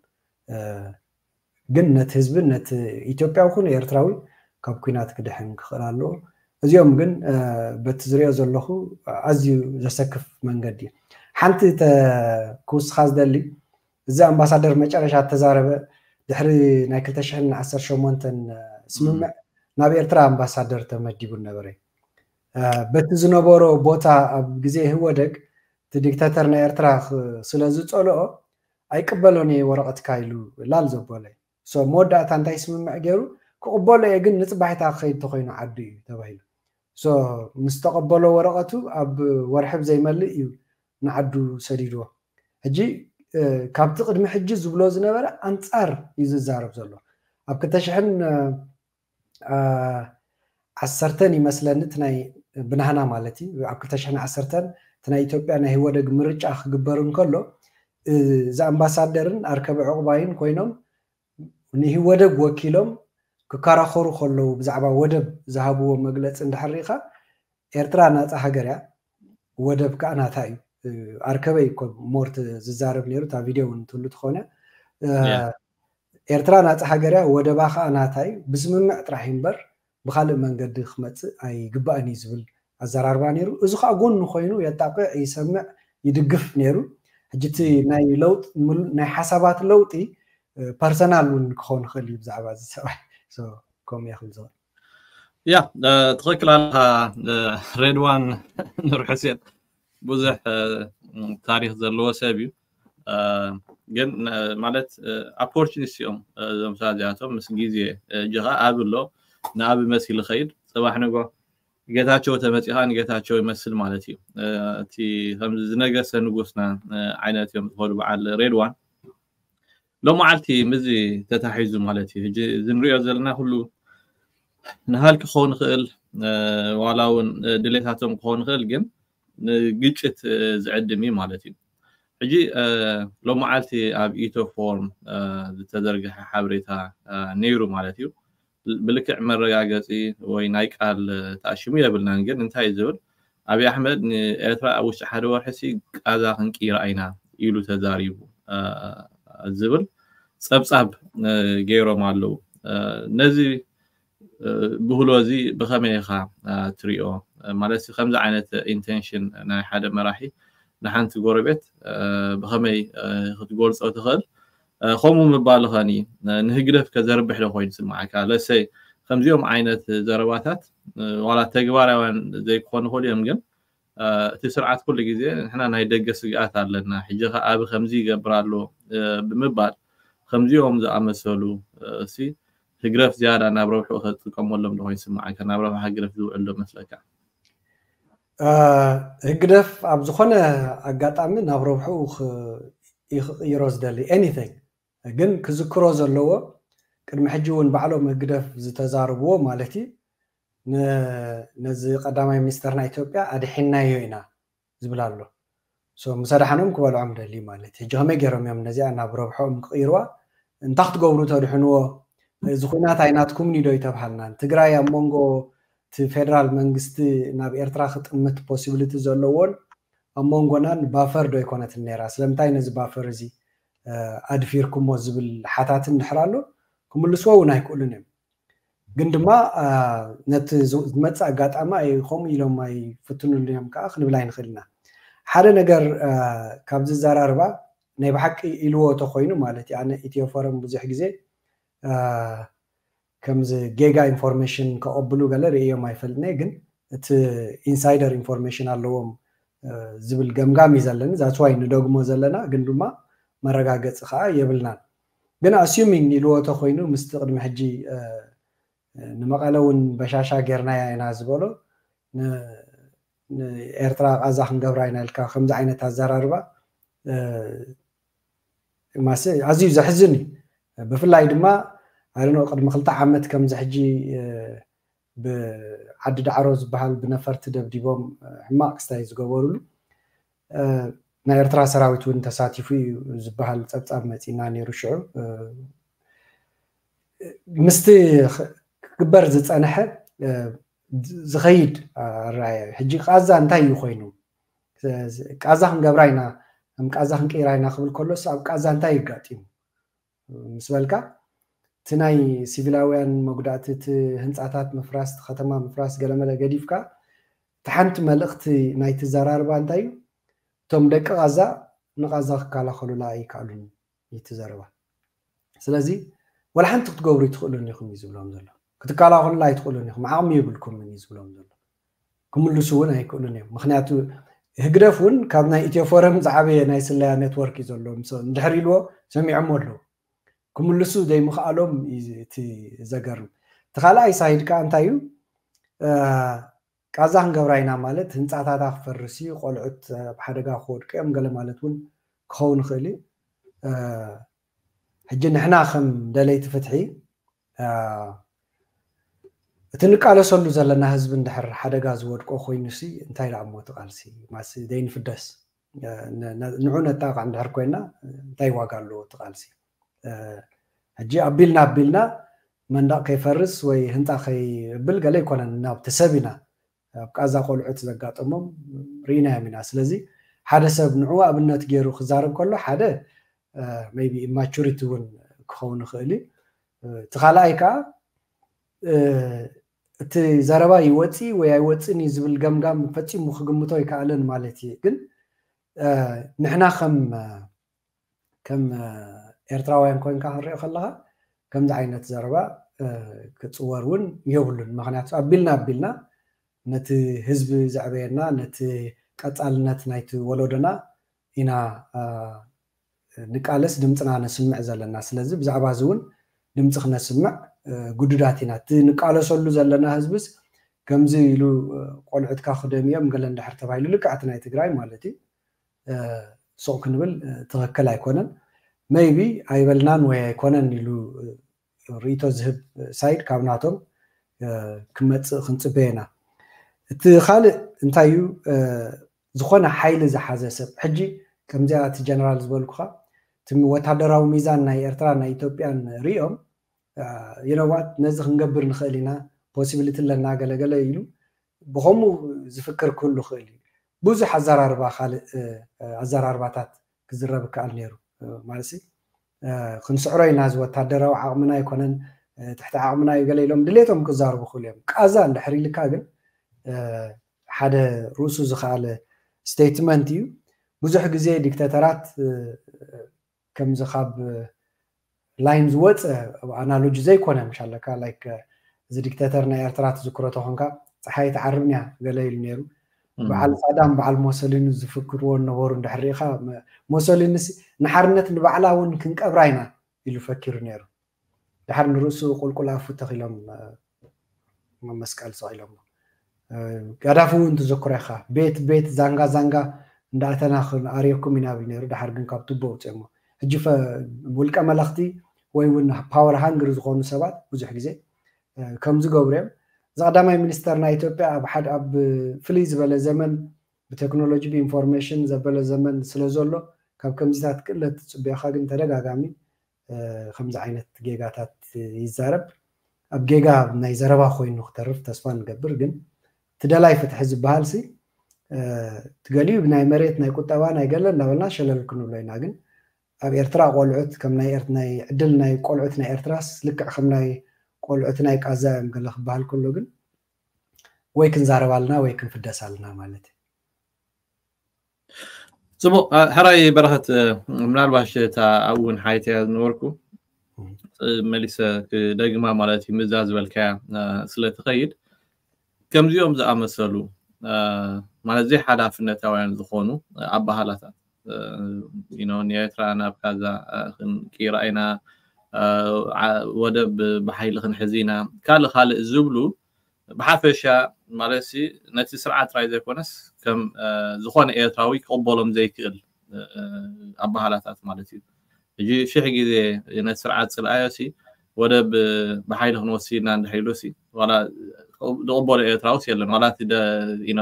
ግን ነቲ ህዝቢ ነቲ ኢትዮጵያዊ ኩኑ ኤርትራዊ ካብ ኩናት ክድሕን ክኽእል ኣለዎ እዚኦም ግን በቲ ዝሪኦ ዘለኹ ኣዝዩ ዘሰክፍ መንገዲ ሓንቲ ክውስኻ ዝደሊ እዚ ኣምባሳደር መጨረሻ ተዛረበ ድሕሪ ናይ ክልተ ሽሕን ዓሰርተ ሸሞንተን ስምምዕ ናብ ኤርትራ ኣምባሳደር ተመዲቡ ነበረ በቲ ዝነበሮ ቦታ ኣብ ግዜ ህወደግ እቲ ዲክታተር ናይ ኤርትራ ስለ ዝፀልኦ ኣይቅበሎን እየ ወረቐትካ ኢሉ ላል ዘበለ መወዳእታ እንታይ ስምምዕ ገይሩ ክቕበሎ እየ ግን ንፅባሒታ ክኸይድ ተኮይኑ ዓዱ እዩ ተባሂሉ ምስ ተቐበሎ ወረቐቱ ኣብ ወርሒ ብዘይመልእ እዩ ንዓዱ ሰዲድዎ ሕጂ ካብቲ ቅድሚ ሕጂ ዝብሎ ዝነበረ ኣንፃር እዩ ዝዛረብ ዘሎ ኣብ ክልተ ሽሕን ዓሰርተን ይመስለኒ ናይ ብናህና ማለት እዩ ኣብ ክልተ ሽሕን ዓሰርተን እቲ ናይ ኢትዮጵያ ናይ ህወደግ ምርጫ ክግበር እንከሎ እዚ ኣምባሳደርን ኣርከበ ዕቑባይን ኮይኖም ንህወደግ ወኪሎም ክከራኸሩ ከለዉ ብዛዕባ ወደብ ዝሃብዎ መግለፂ እንድሕር ርኢኻ ኤርትራ ናፃ ሃገር እያ ወደብ ከዓ ናታ እዩ ኣርከበይ እኮ ሞርት ዝዛረብ ነይሩ እታ ቪድዮ እውን ትህሉ ትኾነ ኤርትራ ናፃ ሃገር እያ ወደባ ከዓ ናታ እዩ ብስምምዕ ጥራሕ እምበር ብካልእ መንገዲ ክመፅእ ኣይግባእን እዩ ዝብል ኣዘራርባ ነይሩ እዚ ከዓ ጎኑ ኮይኑ የጣቅዕ ይሰምዕ ይድግፍ ነይሩ ሕጂ እቲ ናይ ለውጥ ናይ ሓሳባት ለውጢ ፐርሰናል እውን ክኸውን ይኽእል እዩ ብዛዕባ እዚ ሰብኣይ ከምኡ እየ ክብል ዝኽእል ያ ትኽክል ኣለኻ ሬድዋን ኑር ሕሴን ብዙሕ ታሪክ ዘለዎ ሰብ እዩ ግን ማለት ኣፖርቹኒስት እዮም እዞም ሰባት እዚኣቶም ምስ ግዜ እጅኻ ኣብ ኣሎ ንኣብ መሲል ኸይድ ፅባሕ ንጎ ጌታቸው ተመፂኻ ንጌታቸው ይመስል ማለት እዩ እቲ ከምዚ ዝነገሰ ንጉስና ዓይነት እዮም ዝኸዱ በዓል ሬድዋን ሎመዓልቲ ምዚ ተታሒዙ ማለት እዩ ሕጂ እዚ ንሪኦ ዘለና ኩሉ ንሃልኪ ክኸውን ይኽእል ዋላ እውን ድሌታቶም ክኸውን ይኽእል ግን ንግጭት ዝዕድም እዩ ማለት እዩ ሕጂ ሎመዓልቲ ኣብ ኢትዮ ፎርም ዝተዘርግሐ ሓበሬታ ነይሩ ማለት እዩ ብልክዕ መረጋገፂ ወይ ናይ ቃል ተኣሽሙ የብልናን ግን እንታይ ዝብል ኣብይ ኣሕመድ ንኤርትራ ኣብ ውሽጢ ሓደ ወርሒ ሲ ቃዛ ክንቅይራ ኢና ኢሉ ተዛሪቡ ዝብል ፀብፃብ ገይሮም ኣለዉ ነዚ ብህሎ እዚ ብኸመይ ኢኻ ትሪኦ ማለት ከምዚ ዓይነት ኢንቴንሽን ናይ ሓደ መራሒ ንሓንቲ ጎረቤት ብኸመይ ክትገልፆ ትኽእል? ከምኡ ምባልኸኒ ንህግደፍ ከዘርብሕ ዶ ኮይኑ ስምዓካ? ለሰይ ከምዚኦም ዓይነት ዘረባታት ዋላ ተግባራውያን ዘይኮኑ ኽእሉ እዮም፣ ግን እቲ ስርዓት ኩሉ ግዜ ንሕና ናይ ደገ ስግኣት ኣለና፣ ሕጂ ኸኣ ኣብ ከምዚ ይገብር ኣሎ ብምባል ከምዚኦም ዝኣመሰሉ ሲ ህግደፍ ዝያዳ ናብ ረብሑ ከጥቀመሎም ዶ ኮይኑ ስምዓካ? ናብ ረብሓ ህግደፍ ዝውዕል ዶ መስለካ? ህግደፍ ኣብ ዝኾነ ኣጋጣሚ ናብ ረብሑ ይኽቕይሮ ዝደሊ ኤኒቲንግ፣ ግን ክዝክሮ ዘለዎ ቅድሚ ሕጂ እውን ባዕሎም ህግደፍ ዝተዛረብዎ ማለት እዩ፣ ነዚ ቀዳማይ ሚኒስተርና ኢትዮጵያ ኣድሒናዮ ኢና ዝብል ኣሎ። ምሰ ደሓኖም ክበልዖም ደሊ ማለት ሕጂ ከመይ ገይሮም እዮም ነዚኣ ናብ ረብሖም ክቕይርዋ? እንታይ ክትገብሩ ተድሕንዎ? እዚ ኩናት ኣይናትኩምን ዶ ይተብሃልናን? ትግራይ ኣብ መንጎ እቲ ፌደራል መንግስቲ ናብ ኤርትራ ክጥምት ፖሲቢሊቲ ዘለዎን ኣብ መንጎናን ባፈር ዶ ኣይኮነትን ነይራ? ስለምንታይ ነዚ ባፈር እዚ ኣድፊርኩሞ ዝብል ሓታትን ድሕር ኣሎ ክምልስዎ እውን ኣይክእሉን እዮም። ግን ድማ ነቲ ዝመፅእ ኣጋጣሚ ከምኡ ኢሎም ኣይፍትኑሉ እዮም ከዓ ክንብል ኣይንኽእል ኢና። ሓደ ነገር ካብዚ ዘራርባ ናይ ብሓቂ ኢልዎ ተኮይኑ ማለት እዩ። ኣነ ኢትዮ ፎረም ብዙሕ ግዜ ከምዚ ጌጋ ኢንፎርሜሽን ከቐብሉ ገለ ርእዮም ኣይፈልጥን፣ ግን እቲ ኢንሳይደር ኢንፎርሜሽን ኣለዎም ዝብል ገምጋም እዩ ዘለኒ። ዛትስ ዋይ ንደግሞ ዘለና፣ ግን ድማ መረጋገፂ ከዓ የብልናን። ግን ኣስዩሚንግ ኢልዎ ተኮይኑ ምስቲ ቅድሚ ሕጂ ንመቐለ እውን በሻሻ ጌርናያ ኢና ዝበሎ ንኤርትራ ቃዛ ክንገብራ ኢና ኢልካ ከምዚ ዓይነት ኣዘራርባ ማስ ኣዝዩ ዘሕዝን እዩ። ብፍላይ ድማ ኣነ ቅድሚ ክልተ ዓመት ከምዚ ሕጂ ብዓዲ ዳዕሮ ዝበሃል ብነፈርቲ ደብዲቦም ሕማቕ ክስታይ ዝገበሩሉ ናይ ኤርትራ ሰራዊት እውን ተሳቲፉ እዩ ዝበሃል ፀብፃብ መፂና ነይሩ። ሽዑ ምስቲ ክግበር ዝፀንሐ ዝኸይድ ኣረኣያ እዩ። ሕጂ ቃዛ እንታይ እዩ ኮይኑ? ቃዛ ክንገብራ ኢና፣ ከም ቃዛ ክንቅይራ ኢና ክብል ከሎስ ኣብ ቃዛ እንታይ ይጋጢሙ ምስ በልካ፣ እቲ ናይ ሲቪላውያን መጉዳእቲ፣ እቲ ህንፃታት ምፍራስ፣ እቲ ከተማ ምፍራስ ገለመለ ገዲፍካ፣ እቲ ሓንቲ መልእኽቲ ናይቲ ዘራርባ እንታይ እዩ? እቶም ደቂ ቃዛ ንቃዛ ክከላኸሉላ ኣይከኣሉን እዩ እቲ ዘረባ። ስለዚ ወላ ሓንቲ ክትገብሩ ኣይትኽእሉን ኢኹም እዩ ዝብሎም ዘሎ። ክትከላኸሉላ ኣይትኽእሉን ኢኹም፣ ዓቕሚ የብልኩምን እዩ ዝብሎም ዘሎ። ክምልሱ እውን ኣይክእሉን እዮም። ምክንያቱ ህግደፍ እውን ካብ ናይ ኢትዮ ፎረም ዝዓበየ ናይ ስለያ ኔትወርክ እዩ ዘሎ። እንድሕር ኢልዎ ሰሚዖም ኣለዉ። ክምልሱ ዘይምኽኣሎም እዩ እቲ ዘገርም። እቲ ካልኣይ ሳይድ ከዓ እንታይ እዩ? ቃዛ ክንገብራ ኢና ማለት ህንፃታታ ክፈርስ እዩ፣ ቆልዑት ኣብ ሓደጋ ክወድቁ እዮም፣ ገለ ማለት እውን ክኸውን ይኽእል እዩ። ሕጂ ንሕና ከም ደለይቲ ፍትሒ እቲ ንቃለሰሉ ዘለና ህዝቢ እንድሕር ሓደጋ ዝወድቆ ኮይኑሲ እንታይ ደኣ እሞ እቲ ቃልሲ ማሲ ዘይንፍደስ ንዑ ነጣቕ እንድሕር ኮይና እንታይ ዋጋ ኣለዎ እቲ ቃልሲ? ሕጂ ኣቢልና ኣቢልና መንደቕ ከይፈርስ ወይ ህንፃ ከይብል ገለ ኣይኮነን፣ ናብቲ ሰብ ኢና ኣብ ቃዛ ቆልዑት ዘጋጠሞም ርኢናዮም ኢና። ስለዚ ሓደ ሰብ ንዑ ኣብነት ገይሩ ክዛረብ ከሎ ሓደ maybe ኢማቹሪቲ እውን ክኸውን ይኽእል እዩ። እቲ ካልኣይ ከዓ እቲ ዘረባ ይወፅእ ወይ ኣይወፅእን እዩ ዝብል ገምጋም ፈፂሙ ክግምቶ ኣይከኣልን ማለት እዩ። ግን ንሕና ከም ከም ኤርትራውያን ኮይንካ ክንሪኦ ከለካ ከምዚ ዓይነት ዘረባ ክፅወር እውን የብሉን። ምክንያቱ ኣቢልና ኣቢልና ነቲ ህዝቢ ዘዕበየና ነቲ ቀፃልነት ናይቲ ወለዶና ኢና ንቃለስ ድምፅና ነስምዕ ዘለና። ስለዚ ብዛዕባ እዚ እውን ድምፂ ክነስምዕ ግዱዳት ኢና። እቲ ንቃለሰሉ ዘለና ህዝብስ ከምዚ ኢሉ ቆልዑትካ ክደምዮም ገለ እንድሕር ተባሂሉ ልክዕ እቲ ናይ ትግራይ ማለት እዩ ሱቕ ክንብል ትኽክል ኣይኮነን። maybe ኣይበልናን ወይ ኣይኮነን ኢሉ ርእይቶ ዝህብ ሳይድ ካብ ናቶም ክመፅእ ክንፅበ ኢና። እቲ ካልእ እንታይ እዩ? ዝኾነ ሓይሊ ዝሓዘ ሰብ ሕጂ ከምዚኣ እቲ ጀነራል ዝበልኩኻ እቲ ወታደራዊ ሚዛን ናይ ኤርትራ ናይ ኢትዮጵያን ሪኦም you know what ነዚ ክንገብር ንኽእል ኢና ፖሲቢሊቲ ኣለና ገለገለ ኢሉ ብኸምኡ ዝፍክር ክህሉ ይኽእል እዩ። ብዙሕ ኣዘራርባ ካልእ ኣዘራርባታት ክዝረብ ይከኣል ነይሩ ማለት ክንስዕሮ ኢና እዚ ወታደራዊ ዓቕምና ኣይኮነን ትሕቲ ዓቕምና እዩ ገለ ኢሎም ድሌቶም ክዛርቡ ክእሉ እዮም። ቃዛ እንድሕር ኢልካ ግን ሓደ ርእሱ ዝኸኣለ ስቴትመንት እዩ። ብዙሕ ግዜ ዲክተተራት ከምዚ ካብ ላይን ዝወፀ ኣናሎጂ ዘይኮነ ምሻለካ ላይክ እዚ ዲክተተር ናይ ኤርትራ ትዝክሮ ተኾንካ ፀሓይ ትዓርብን እያ ገለ ኢሉ ነይሩ። በዓል ሳዳም በዓል ሞሶሊኒ ዝፍክርዎ ነበሩ እንድሕር ርኢኻ ሞሶሊኒ ንሓርነት ንባዕላ እውን ክንቀብራ ኢና ኢሉ ፈኪሩ ነይሩ። ድሓር ንርእሱ ቁልቁል ኣፉ ተኺሎም መስቀል ሰቒሎም ጋዳፊ እውን ትዝክሮ ኢኻ ቤት ቤት ዛንጋ ዛንጋ እንዳኣተና ክንኣርየኩም ኢና ብል ነይሩ። ድሓር ግን ካብ ቱቦ ውፅኦሞ ሕጂ ውልቀ መለኽቲ ወይ እውን ፓወር ሃንግሪ ዝኾኑ ሰባት ብዙሕ ግዜ ከምዚ ገብሩ እዮም። እዚ ቀዳማይ ሚኒስተር ናይ ኢትዮጵያ ኣብ ሓደ ኣብ ፍልይ ዝበለ ዘመን ብቴክኖሎጂ ብኢንፎርሜሽን ዘበለ ዘመን ስለ ዘሎ ካብ ከምዚታት ክእለት ትፅበዮካ ግን ተደጋጋሚ ከምዚ ዓይነት ጌጋታት ይዛረብ። ኣብ ጌጋ ናይ ዘረባ ኮይኑ ክተርፍ ተስፋ ንገብር። ግን ትደላይ ፍትሒ ዝበሃል ሲ ትገሊኡ ብናይ መሬት ናይ ቁጠባ ናይ ገለ እንዳበልና ሸለል ክንብሎ ኢና። ግን ኣብ ኤርትራ ቆልዑት ከም ናይ ናይ ዕድል ናይ ቆልዑት ናይ ኤርትራስ ልክዕ ከም ናይ ቆልዑት ናይ ቃዛ እዮም ገለ ክበሃል ከሎ ግን ወይ ክንዛረብ ኣለና ወይ ክንፍደስ ኣለና ማለት እዩ። ፅቡቅ። ሕራይ በረኸት፣ ምናልባሽ እታ ኣብኡ እውን ሓይተያ ዝነበርኩ መሊሰ ክደግማ ማለት እዩ። ምዛ ዝበልካያ ስለትኸይድ ከምዚኦም ዝኣመሰሉ ማለት ዘይሓላፍነታውያን ዝኾኑ ኣባሃላታት ንኤርትራ ናብ ካዛ ክንቅይራ ኢና፣ ወደብ ብሓይሊ ክንሕዝ ኢና፣ ካልእ ካልእ ዝብሉ ብሓፈሻ ማለት ነቲ ስርዓት ጥራይ ዘይኮነስ ከም ዝኾነ ኤርትራዊ ክቕበሎም ዘይክእል ኣባሃላታት ማለት እዩ። ሕጂ ሽሕ ግዜ ነቲ ስርዓት ፅልኣዮ ሲ ወደብ ብሓይሊ ክንወስድ ኢና እንድሕር ኢሉ ሲ ዋላ ዝቕበሎ ኤርትራውስ የለን። ዋላ እቲ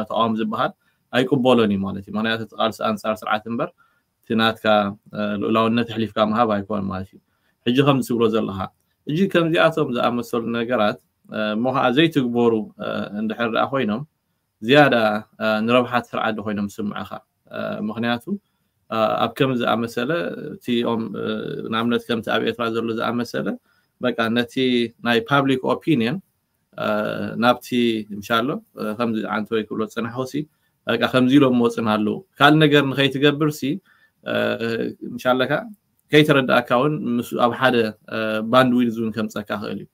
ተቃዋሚ ዝበሃል ኣይቅበሎን እዩ ማለት እዩ። ምክንያቱ እቲ ቃልሲ ኣንፃር ስርዓት እምበር እቲ ናትካ ልኡላውነት ኣሕሊፍካ ምሃብ ኣይኮን ማለት እዩ። ሕጂ ከም ትብሎ ዘለካ ሕጂ ከምዚኣቶም ዝኣመሰሉ ነገራት እሞ ከዓ ዘይትግበሩ እንድሕር ደኣ ኮይኖም ዝያዳ ንረብሓት ስርዓት ዶ ኮይኖም ዝስምዑኻ? ምክንያቱ ኣብ ከም ዝኣመሰለ እቲኦም ንኣብነት ከምቲ ኣብ ኤርትራ ዘሎ ዝኣመሰለ በቃ ነቲ ናይ ፓብሊክ ኦፒኒየን ናብቲ ምሻሎ ከምዚ ዓንተወይ ክብሎ ዝፀናሕኩ ሲ በቃ ከምዚ ኢሎም መፅና ኣለዉ ካልእ ነገር ንከይትገብር ሲ ምሻለካ ከይተረዳእካ እውን ምስ ኣብ ሓደ ባንድዊድዝ እውን ከምፀካ ክእል እዩ።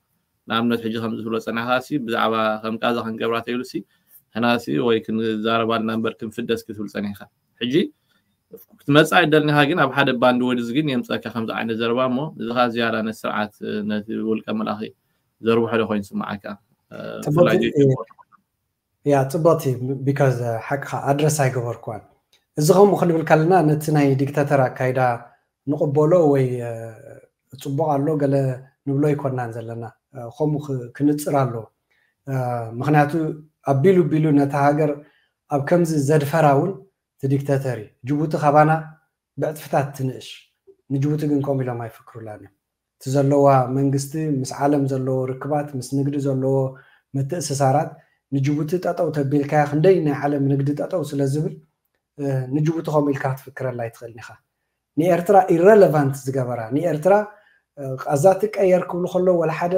ንኣብነት ሕጂ ከም ዝብሎ ፀናሕካ ሲ ብዛዕባ ከም ቃዛ ክንገብራ ተይሉ ሲ ሕና ሲ ወይ ክንዛረብ ኣለና እምበር ክንፍደስ ክትብል ፀኒሕካ ሕጂ ክትመፅእ ኣይደልኒኻ ግን ኣብ ሓደ ባንድዊድዝ ግን የምፀካ ከምዚ ዓይነት ዘረባ እሞ እዚ ከዓ ዝያዳ ነቲ ስርዓት ነቲ ውልቀ መላኺ ዘርብሖ ዶ ኮይኑ ስምዓካ? ያ ፅቡቅቲ because ሓቅኻ ኣድረስ ኣይገበርኩዋን። እዚ ከምኡ ክንብል ከለና ነቲ ናይ ዲክታተር ኣካይዳ ንቕበሎ ወይ ፅቡቅ ኣሎ ገለ ንብሎ ኣይኮናን ዘለና። ከምኡ ክንፅር ኣለዎ። ምክንያቱ ኣቢሉ ቢሉ ነታ ሃገር ኣብ ከምዚ ዘድፈራ እውን እቲ ዲክታተር እዩ። ጅቡቲ ካባና ብዕፅፍታት ትንእሽ። ንጅቡቲ ግን ከምኡ ኢሎም ኣይፍክሩላን እዮም። እቲ ዘለዋ መንግስቲ ምስ ዓለም ዘለዎ ርክባት ምስ ንግዲ ዘለዎ ምትእስሳራት ንጅቡቲ ጠጠው ተቢልካያ ክንደይ ናይ ዓለም ንግዲ ጠጠው ስለ ዝብል ንጅቡቲ ከምኡ ኢልካ ክትፍክረላ ኣይትኽእልን ኢኻ። ንኤርትራ ኢረለቫንት ዝገበራ ንኤርትራ ቃዛ ትቀየር ክብሉ ከለዉ ወላ ሓደ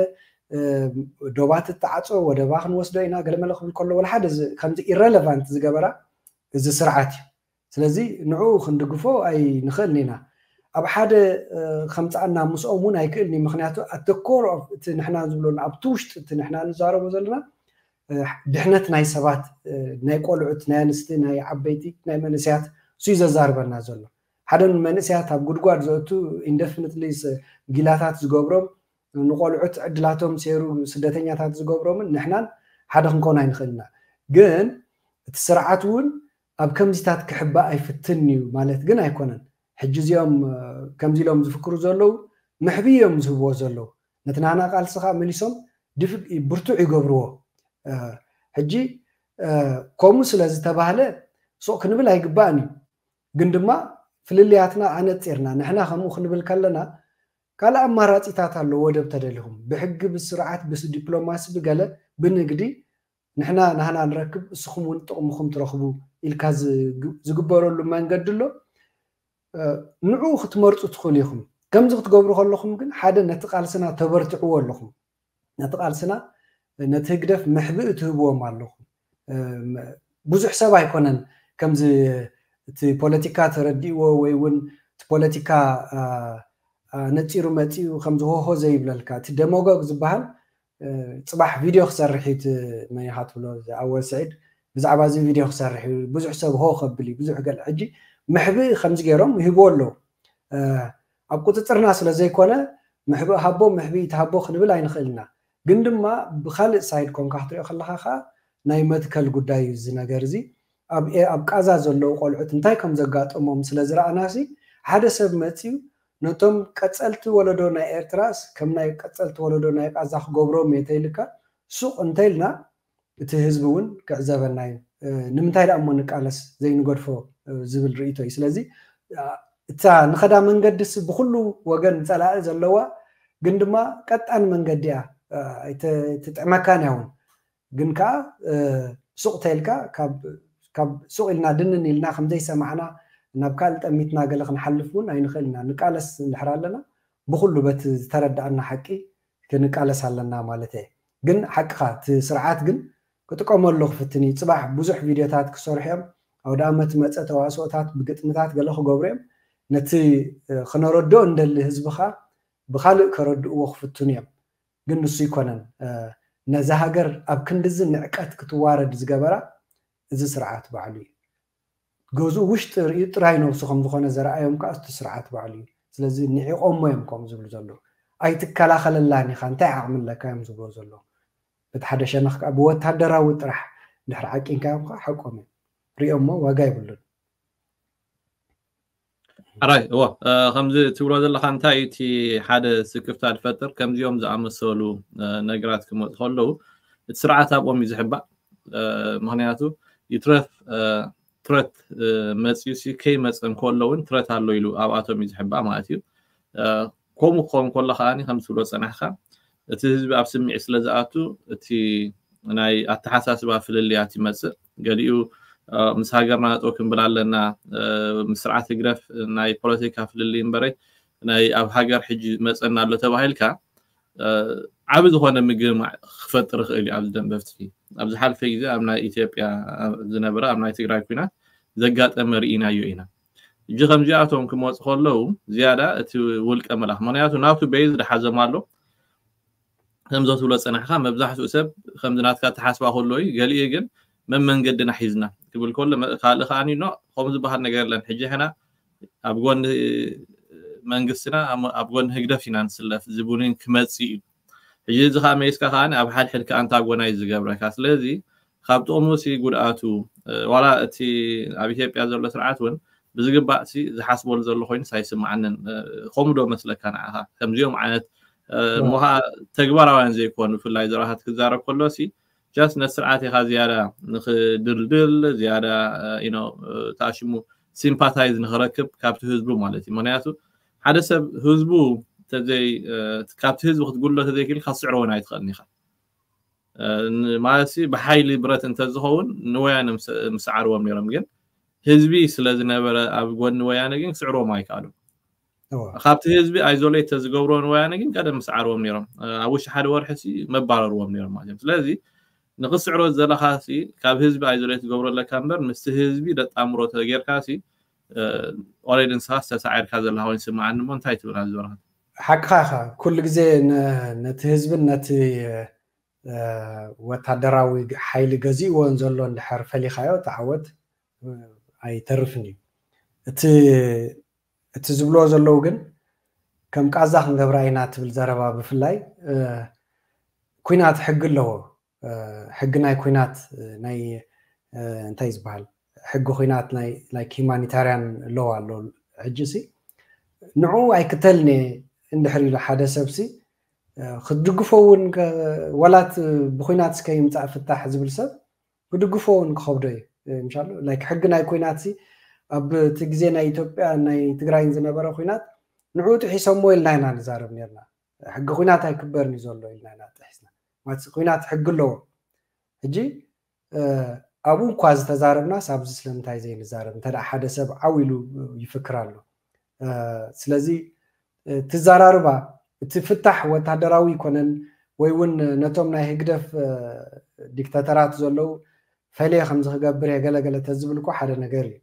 ዶባት ትዓፆ ወደባ ክንወስዶ ኢና ገለመለ ክብል ከሎ ወላ ሓደ ከምዚ ኢረለቫንት ዝገበራ እዚ ስርዓት እዩ። ስለዚ ንዕኡ ክንድግፎ ኣይንኽእልን ኢና። ኣብ ሓደ ከምፃኣና ምስኦም እውን ኣይክእልን እዩ። ምክንያቱ ኣተኮር እቲ ንሕና ዝብሎ ኣብቲ ውሽጢ እቲ ንሕና ንዛረቦ ዘለና ድሕነት ናይ ሰባት ናይ ቆልዑት ናይ ኣንስቲ ናይ ዓበይቲ ናይ መንእሰያት እሱዩ ዘዛርበና ዘሎ። ሓደ መንእሰያት ኣብ ጉድጓድ ዘእቱ ኢንደፊኒትሊ ጊላታት ዝገብሮም ንቆልዑት ዕድላቶም ሴሩ ስደተኛታት ዝገብሮምን ንሕናን ሓደ ክንከውን ኣይንኽእልና። ግን እቲ ስርዓት እውን ኣብ ከምዚታት ክሕባእ ኣይፍትን እዩ ማለት ግን ኣይኮነን። ሕጂ እዚኦም ከምዚ ኢሎም ዝፍክሩ ዘለዉ መሕቢ እዮም ዝህብዎ ዘለዉ። ነቲ ናና ቃልሲ ከዓ መሊሶም ብርቱዕ ይገብርዎ። ሕጂ ከምኡ ስለ ዝተባህለ ሱቕ ክንብል ኣይግባእን እዩ። ግን ድማ ፍልልያትና ኣነፂርና ንሕና ከምኡ ክንብል ከለና ካልእ ኣማራፂታት ኣሎ። ወደብ ተደሊኹም ብሕጊ ብስርዓት ብዲፕሎማሲ ብገለ ብንግዲ ንሕና ናህና ንረክብ እስኹም እውን ጥቕምኹም ትረኽቡ ኢልካ ዝግበረሉ መንገዲ ኣሎ። ንዑ ክትመርፁ ትኽእሉ ኢኹም። ከምዚ ክትገብሩ ከለኹም ግን ሓደ ነቲ ቃልስና ተበርትዕዎ ኣለኹም። ነቲ ቃልስና ነቲ ህግደፍ መሕብኢ ትህብዎም ኣለኹም። ብዙሕ ሰብ ኣይኮነን ከምዚ እቲ ፖለቲካ ተረዲእዎ ወይ እውን እቲ ፖለቲካ ነፂሩ መፂኡ ከምዚ ሆሆ ዘይብለልካ። እቲ ደሞጎግ ዝበሃል ጽባሕ ቪድዮ ክሰርሕ እዩ፣ መን ኢኻ ትብሎ ኣወል ስዒድ ብዛዕባ እዚ ቪድዮ ክሰርሕ እዩ፣ ብዙሕ ሰብ ሆ ከብል እዩ፣ ብዙሕ ገለ። ሕጂ መሕብኢ ከምዚ ገይሮም ይህብዎ ኣለዉ። ኣብ ቁፅፅርና ስለ ዘይኮነ መሕብኢ ሃቦ መሕብኢ ተሃቦ ክንብል ኣይንኽእል ኢና። ግን ድማ ብካልእ ሳይድ ኮንካ ክትሪኦ ከለካ ከዓ ናይ መትከል ጉዳይ እዩ እዚ ነገር እዚ። ኣብ ቃዛ ዘለዉ ቆልዑት እንታይ ከም ዘጋጠሞም ስለ ዝረኣናሲ ሓደ ሰብ መፅዩ ነቶም ቀፀልቲ ወለዶ ናይ ኤርትራስ ከም ናይ ቀፀልቲ ወለዶ ናይ ቃዛ ክገብሮም እየ ተይልካ ሱቕ እንተይልና እቲ ህዝቢ እውን ክዕዘበና እዩ። ንምንታይ ደኣ እሞ ንቃለስ ዘይንገድፎ ዝብል ርእይቶ እዩ። ስለዚ እታ ንኸዳ መንገድስ ብኩሉ ወገን ፀላኢ ዘለዋ ግን ድማ ቀጣን መንገዲ እያ፣ ትጥዕመካን እያ እውን። ግን ከዓ ሱቕ ተይልካ ካብ ሱቕ ኢልና ድንን ኢልና ከምዘይሰማዕና ናብ ካልእ ጠሚትና ገለ ክንሓልፍ እውን ኣይንኽእል ኢና። ንቃለስ እንድሕር ኣለና ብኩሉ በቲ ዝተረዳኣና ሓቂ ክንቃለስ ኣለና ማለት እየ። ግን ሓቅኻ እቲ ስርዓት ግን ክጥቀመሉ ክፍትን እዩ። ፅባሕ ብዙሕ ቪድዮታት ክሰርሑ እዮም። ኣውደ ኣመት መፀ ተዋስኦታት ብግጥምታት ገለ ክገብሩ እዮም። ነቲ ክነረድኦ እንደሊ ህዝብኻ ብካልእ ከረድእዎ ክፍትኑ እዮም። ግን ንሱ ይኮነን ነዛ ሃገር ኣብ ክንድዚ ንዕቀት ክትዋረድ ዝገበራ እዚ ስርዓት ባዕሉ እዩ። ገዝኡ ውሽጢ ርእዩ ጥራይ ነብሱ ከም ዝኾነ ዘረኣዮም ከዓ እቲ ስርዓት ባዕሉ እዩ። ስለዚ ንዒቖሞ እዮም ከምኡ ዝብሉ ዘለዉ። ኣይትከላኸለላን ኢኻ፣ እንታይ ዓቕሚ ኣለካ እዮም ዝብሎ ዘለዉ። በቲ ሓደ ሸነኽ ከዓ ብወታደራዊ ጥራሕ እንድሕር ዓቂንካዮም ከዓ ሓቆም እዮም። ሪኦሞ ዋጋ የብሉን። ሕራይ እዎ ከምዚ ትብሎ ዘለካ እንታይ እቲ ሓደ ስክፍታ ዝፈጥር ከምዚኦም ዝኣመሰሉ ነገራት ክመፁ ከለዉ እቲ ስርዓት ኣብኦም እዩ ዝሕባእ። ምክንያቱ ይትረፍ ትረት መፅዩ ሲ ከይመፀ እንከሎ እውን ትረት ኣሎ ኢሉ ኣብኣቶም እዩ ዝሕባእ ማለት እዩ። ከምኡ ክኸውን ከሎ ከዓኒ ከም ትብሎ ፀናሕካ እቲ ህዝቢ ኣብ ስምዒት ስለ ዝኣቱ እቲ ናይ ኣተሓሳስባ ፍልልያት ይመፅእ። ገሊኡ ምስ ሃገርና ጠው ክንብል ኣለና፣ ምስ ስርዓት ህግደፍ ናይ ፖለቲካ ፍልልይ እምበረይ ናይ ኣብ ሃገር ሕጂ መፀና ኣሎ ተባሂልካ ዓቢ ዝኾነ ምግማዕ ክፈጥር ይኽእል እዩ። ኣብዚ ደንበ ፍትሒ ኣብ ዝሓልፈ ግዜ ኣብ ናይ ኢትዮጵያ ዝነበረ ኣብ ናይ ትግራይ ኩናት ዘጋጠመ ርኢናዮ ኢና። እጂ ከምዚኣቶም ክመፁ ከለዉ ዝያዳ እቲ ውልቀ መላኽ ምክንያቱ ናቱ በይዝ ድሓዞም ኣሎ ከምዞ ትብሎ ፀናሕካ መብዛሕትኡ ሰብ ከምዚ ናትካ ተሓስባ ከሎ እዩ። ገሊኡ ግን መመንገድና ሒዝና ክብል ከሎ ካልእ ከዓኒ ኖ ከምኡ ዝበሃል ነገር የለን። ሕጂ ሕና ኣብ ጎኒ መንግስትና ኣብ ጎኒ ህግደፍ ኢና ንስለፍ ዝብሉን ክመፅእ እዩ። ሕጂ እዚ ከዓ መይስካ ከዓ ኣብ ሓድሕድ ከዓ ኣንታጎናይዝ ዝገብረካ። ስለዚ ካብ ጥቕሙ ሲ ጉድኣቱ ዋላ እቲ ኣብ ኢትዮጵያ ዘሎ ስርዓት እውን ብዝግባእ ሲ ዝሓስበሉ ዘሎ ኮይኑስ ኣይስምዓንን። ከምኡ ዶ መስለካ ንዓኻ? ከምዚኦም ዓይነት እሞ ከዓ ተግባራውያን ዘይኮኑ ብፍላይ ዘረባታት ክዛረብ ከሎ ሲ ጃስት ነቲ ስርዓት ኢኻ ዝያዳ ንክድልድል ዝያዳ ኢኖ ተኣሽሙ ሲምፓታይዝ ንክረክብ ካብቲ ህዝቡ ማለት እዩ። ምክንያቱ ሓደ ሰብ ህዝቡ ተዘይ ካብቲ ህዝቢ ክትጉሎ ተዘይክእል ክትስዕሮ እውን ኣይትኽእልን ኢኻ። ማለት ብሓይሊ ብረት እንተዝኸውን ንወያነ ምስዓርዎም ነይሮም፣ ግን ህዝቢ ስለዝነበረ ኣብ ጎኒ ወያነ ግን ክስዕርዎም ኣይከኣሉም። ካብቲ ህዝቢ ኣይዞሌት ተዝገብርዎ ንወያነ ግን ቀደም ምስዓርዎም ነይሮም። ኣብ ውሽጢ ሓደ ወርሒ ሲ መባረርዎም ነይሮም ማለት እዮም። ስለዚ ንክስዕሮ ዘለካ ሲ ካብ ህዝቢ ኣይዞሌት ትገብሮ ኣለካ እምበር ምስቲ ህዝቢ ደጣምሮ ተጌርካ ሲ ኦሬዲ ንስኻ ዝተሳዒርካ ዘለካ ኮይኑ ይስምዓኒ እሞ እንታይ ትብል ኣብዚ ወረቐት? ሓቅኻ ኢኻ። ኩሉ ግዜ ነቲ ህዝብን ነቲ ወታደራዊ ሓይሊ ገዚእዎ ዘሎ እንድሕር ፈሊኻዮ እቲ ዓወት ኣይተርፍን እዩ። እቲ ዝብልዎ ዘለዉ ግን ከም ቃዛ ክንገብራ ኢና ትብል ዘረባ ብፍላይ ኩናት ሕጊ ኣለዎ። ሕጊ ናይ ኩናት ናይ እንታይ ዝበሃል ሕጊ ኩናት ናይ ሂማኒታርያን ሎ ኣሎ። ሕጂ ሲ ንዑ ኣይክተልን እየ እንድሕር ኢሉ ሓደ ሰብ ሲ ክትድግፎ እውን ወላት ብኩናት እስከ ይምፃእ ፍታሕ ዝብል ሰብ ክድግፎ እውን ክኸብዶ እዩ። ምሻሉ ሕጊ ናይ ኩናት ሲ ኣብ እቲ ግዜ ናይ ኢትዮጵያ ናይ ትግራይን ዝነበረ ኩናት ንዑ ጥሒሶሞ ኢልና ኢና ንዛረብ ነርና። ሕጊ ኩናት ኣይክበርን እዩ ዘሎ ኢልና ኢና ጥሒስና። ማለት ኩናት ሕጊ ኣለዎ። ሕጂ ኣብኡ እኳ ዝተዛረብናስ ኣብዚ ስለምንታይ ዘይንዛረብ? እንተ ሓደ ሰብ ዓው ኢሉ ይፍክር ኣሎ። ስለዚ ትዘራርባ እቲ ፍታሕ ወታደራዊ ይኮነን ወይ እውን ነቶም ናይ ህግደፍ ዲክታተራት ዘለዉ ፈልየ ከምዚ ክገብር እየ ገለገለ ተዝብል እኮ ሓደ ነገር እዩ።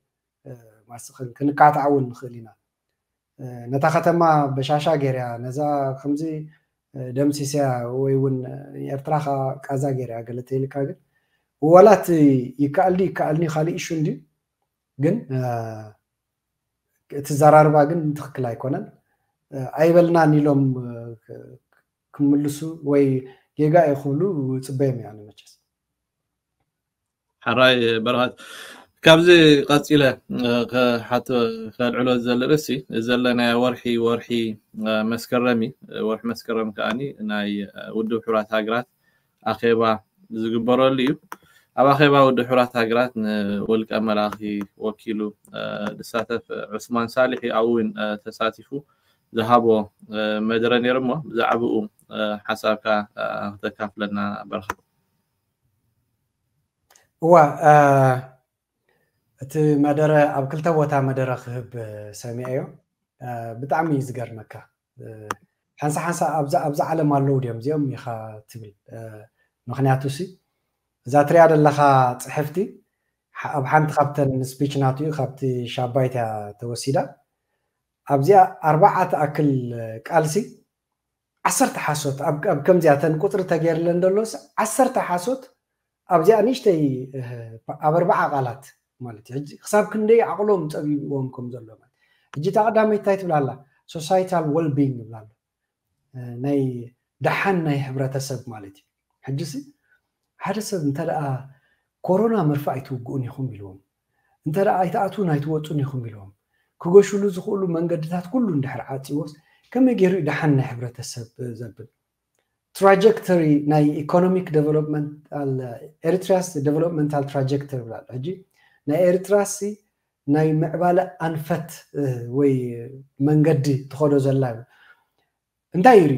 ማስ ክንካታዕ እውን ንኽእል ኢና። ነታ ከተማ በሻሻ ገይርያ ነዛ ከምዚ ደምሲስያ ወይ እውን ኤርትራ ቃዛ ገይርያ ገለ ተይልካ ግን ዋላ እቲ ይከኣል ድዩ ይከኣልኒ ካልእ ኢሹ እንድዩ ግን እቲ ዘራርባ ግን ትኽክል ኣይኮነን። ኣይበልናን ኢሎም ክምልሱ ወይ ጌጋ እዩ ክብሉ ፅበዮም እያ መቸስ። ሓራይ በረኸት ካብዚ ቀፂለ ከልዕሎ ዝደሊ ርእሲ ዘለናዮ ወርሒ ወርሒ መስከረም እዩ። ወርሒ መስከረም ከዓኒ ናይ ውድብ ሕቡራት ሃገራት ኣኼባ ዝግበረሉ እዩ። ኣብ ኣኼባ ውድብ ሕቡራት ሃገራት ንውልቀ መላኺ ወኪሉ ዝሳተፍ ዑስማን ሳልሕ እዩ። ኣብኡ እውን ተሳቲፉ ዝሃቦ መደረ ነይሩ እሞ ብዛዕባኡ ሓሳብካ ክተካፍለና በረኸት። እዋ እቲ መደረ ኣብ ክልተ ቦታ መደረ ክህብ ሰሚዐዮ። ብጣዕሚ እዩ ዝገርመካ። ሓንሳ ሓንሳ ኣብዛ ዓለም ኣለዉ ድዮም እዚኦም ኢኻ ትብል። ምክንያቱ ሲ እዛ ትሪኣ ዘለኻ ፅሕፍቲ ኣብ ሓንቲ ካብተን ስፒች ናቱ እዩ ካብቲ ሻባይት እያ ተወሲዳ። ኣብዚኣ ኣርባዓ ትኣክል ቃልሲ ዓሰርተ ሓሶት ኣብ ከምዚኣ ተን ቁፅሪ ተገይርለን ዘሎስ ዓሰርተ ሓሶት ኣብዚኣ ንእሽተይ ኣብ ኣርባዓ ቃላት ማለት እዩ። ሕጂ ክሳብ ክንደይ ዓቕሎም ፀቢብዎም ከም ዘሎ ማለት ሕጂ እታ ቀዳመይቲ እንታይ ትብላ ኣላ? ሶሳይታል ወልቢንግ ይብላ ኣሎ። ናይ ደሓን ናይ ሕብረተሰብ ማለት እዩ። ሕጂ ሲ ሓደ ሰብ እንተ ደኣ ኮሮና መርፌ ኣይትውግኡን ኢኹም ኢልዎም፣ እንተ ደኣ ኣይትኣትዉን ኣይትወፁን ኢኹም ኢልዎም፣ ክገሽሉ ዝኽእሉ መንገድታት ኩሉ እንድሕር ዓፂዎስ ከመይ ገይሩ እዩ ደሓን ናይ ሕብረተሰብ ዘብል? ትራጀክተሪ ናይ ኢኮኖሚክ ዴቨሎፕመንታል ኤሪትሪያስ ዴቨሎፕመንታል ትራጀክተሪ ይብላ ኣሎ። ሕጂ ናይ ኤሪትራሲ ናይ ምዕባለ ኣንፈት ወይ መንገዲ ትኸዶ ዘላ እንታይ እዩ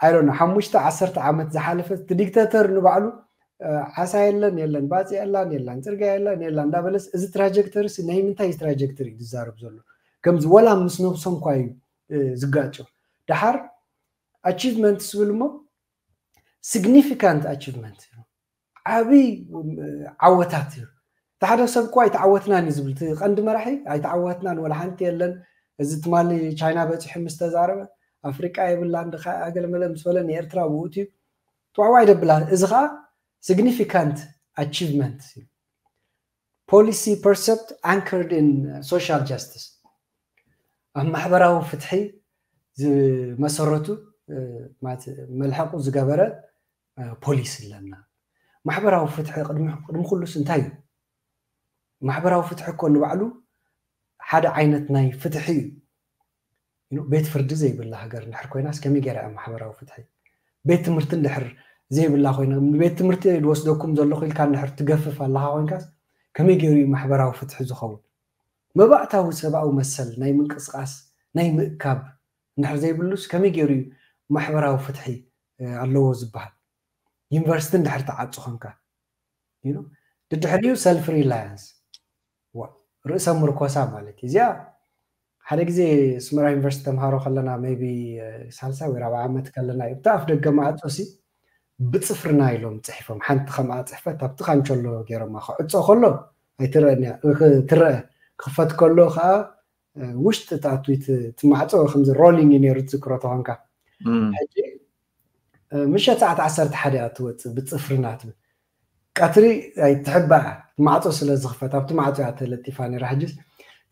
ኣይሮነ ሓሙሽተ ዓሰርተ ዓመት ዝሓለፈ እቲ ዲክተተር ንባዕሉ ዓሳ የለን የለን ባፂ የላን የላን ፅርግያ የለን የላን እንዳበለስ እዚ ትራጀክተሪ ናይ ምንታይ ትራጀክተሪ እዩ ዝዛረብ ዘሎ? ከምዚ ወላ ምስ ነብሶም ኳ እዩ ዝጋጮ። ደሓር ኣቺቭመንት ዝብል እሞ ሲግኒፊካንት ኣቺቭመንት ዓብይ ዓወታት እዩ። እቲ ሓደ ሰብ እኮ ኣይተዓወትናን እዩ ዝብል እቲ ቀንዲ መራሒ ኣይተዓወትናን ወላ ሓንቲ የለን። እዚ ትማሊ ቻይና በፂሑ ምስ ተዛረበ ኣፍሪቃ የብላን ድካ ኣገለመለ ምስ በለ ንኤርትራ ብኡ እዩ ጥዋዕዋዕ ይደብላ። እዚ ከዓ ሲግኒፊካንት ኣቺቭመንት እዩ። Policy percept anchored in social justice ኣብ ማሕበራዊ ፍትሒ ዝመሰረቱ መልሐቁ ዝገበረ ፖሊሲ ኣለና። ማሕበራዊ ፍትሒ ቅድሚ ኩሉስ እንታይ እዩ? ማሕበራዊ ፍትሒ እኮ ንባዕሉ ሓደ ዓይነት ናይ ፍትሒ እዩ። ቤት ፍርዲ ዘይብላ ሃገር እንድሕር ኮይናስ ከመይ ገይራ እያ ማሕበራዊ ፍትሒ? ቤት ትምህርቲ እንድሕር ዘይብላ ኮይና ቤት ትምህርቲ ዝወስደኩም ዘለኹ ኢልካ እንድሕር ትገፍፍ ኣለካ ኮይንካስ ከመይ ገይሩ እዩ ማሕበራዊ ፍትሒ ዝኸውን? መባእታዊ ሰብኣዊ መሰል ናይ ምንቅስቃስ ናይ ምእካብ እንድሕር ዘይብሉስ ከመይ ገይሩ እዩ ማሕበራዊ ፍትሒ ኣለዎ ዝበሃል? ዩኒቨርሲቲ እንድሕር ተዓፁ ኮንካ ድድሕሪኡ ሰልፍ ሪላያንስ ርእሰ ምርኮሳ ማለት እዩ። እዚኣ ሓደ ግዜ ስመራ ዩኒቨርሲቲ ተምሃሮ ከለና ቢ ሳልሳይ ወይ ራብዓ ዓመት ከለና እዩ ብቲ ኣፍ ደገ ማዕፆ ሲ ብፅፍርና ኢሎም ፅሒፎም ሓንቲ ከምኣ ፅሕፈት ኣብቲ ካንቸሎ ገይሮማ ክዕፆ ከሎ ኣይትረአን እያ ትረአ ክኽፈት ከሎ ከዓ ውሽጢ ተኣትዊት ትማዕፆ ከምዚ ሮሊንግ እዩ ነይሩ ትዝክሮ ተኾንካ ሕጂ ምሸት ሰዓት ዓሰርተ ሓደ እያ ትወፅእ ብፅፍርና ትብል ቀትሪ ኣይትሕባእ ማዕፆ ስለ ዝኽፈት ኣብቲ ማዕፆ እያ ተለጢፋ ነይራ ሕጂስ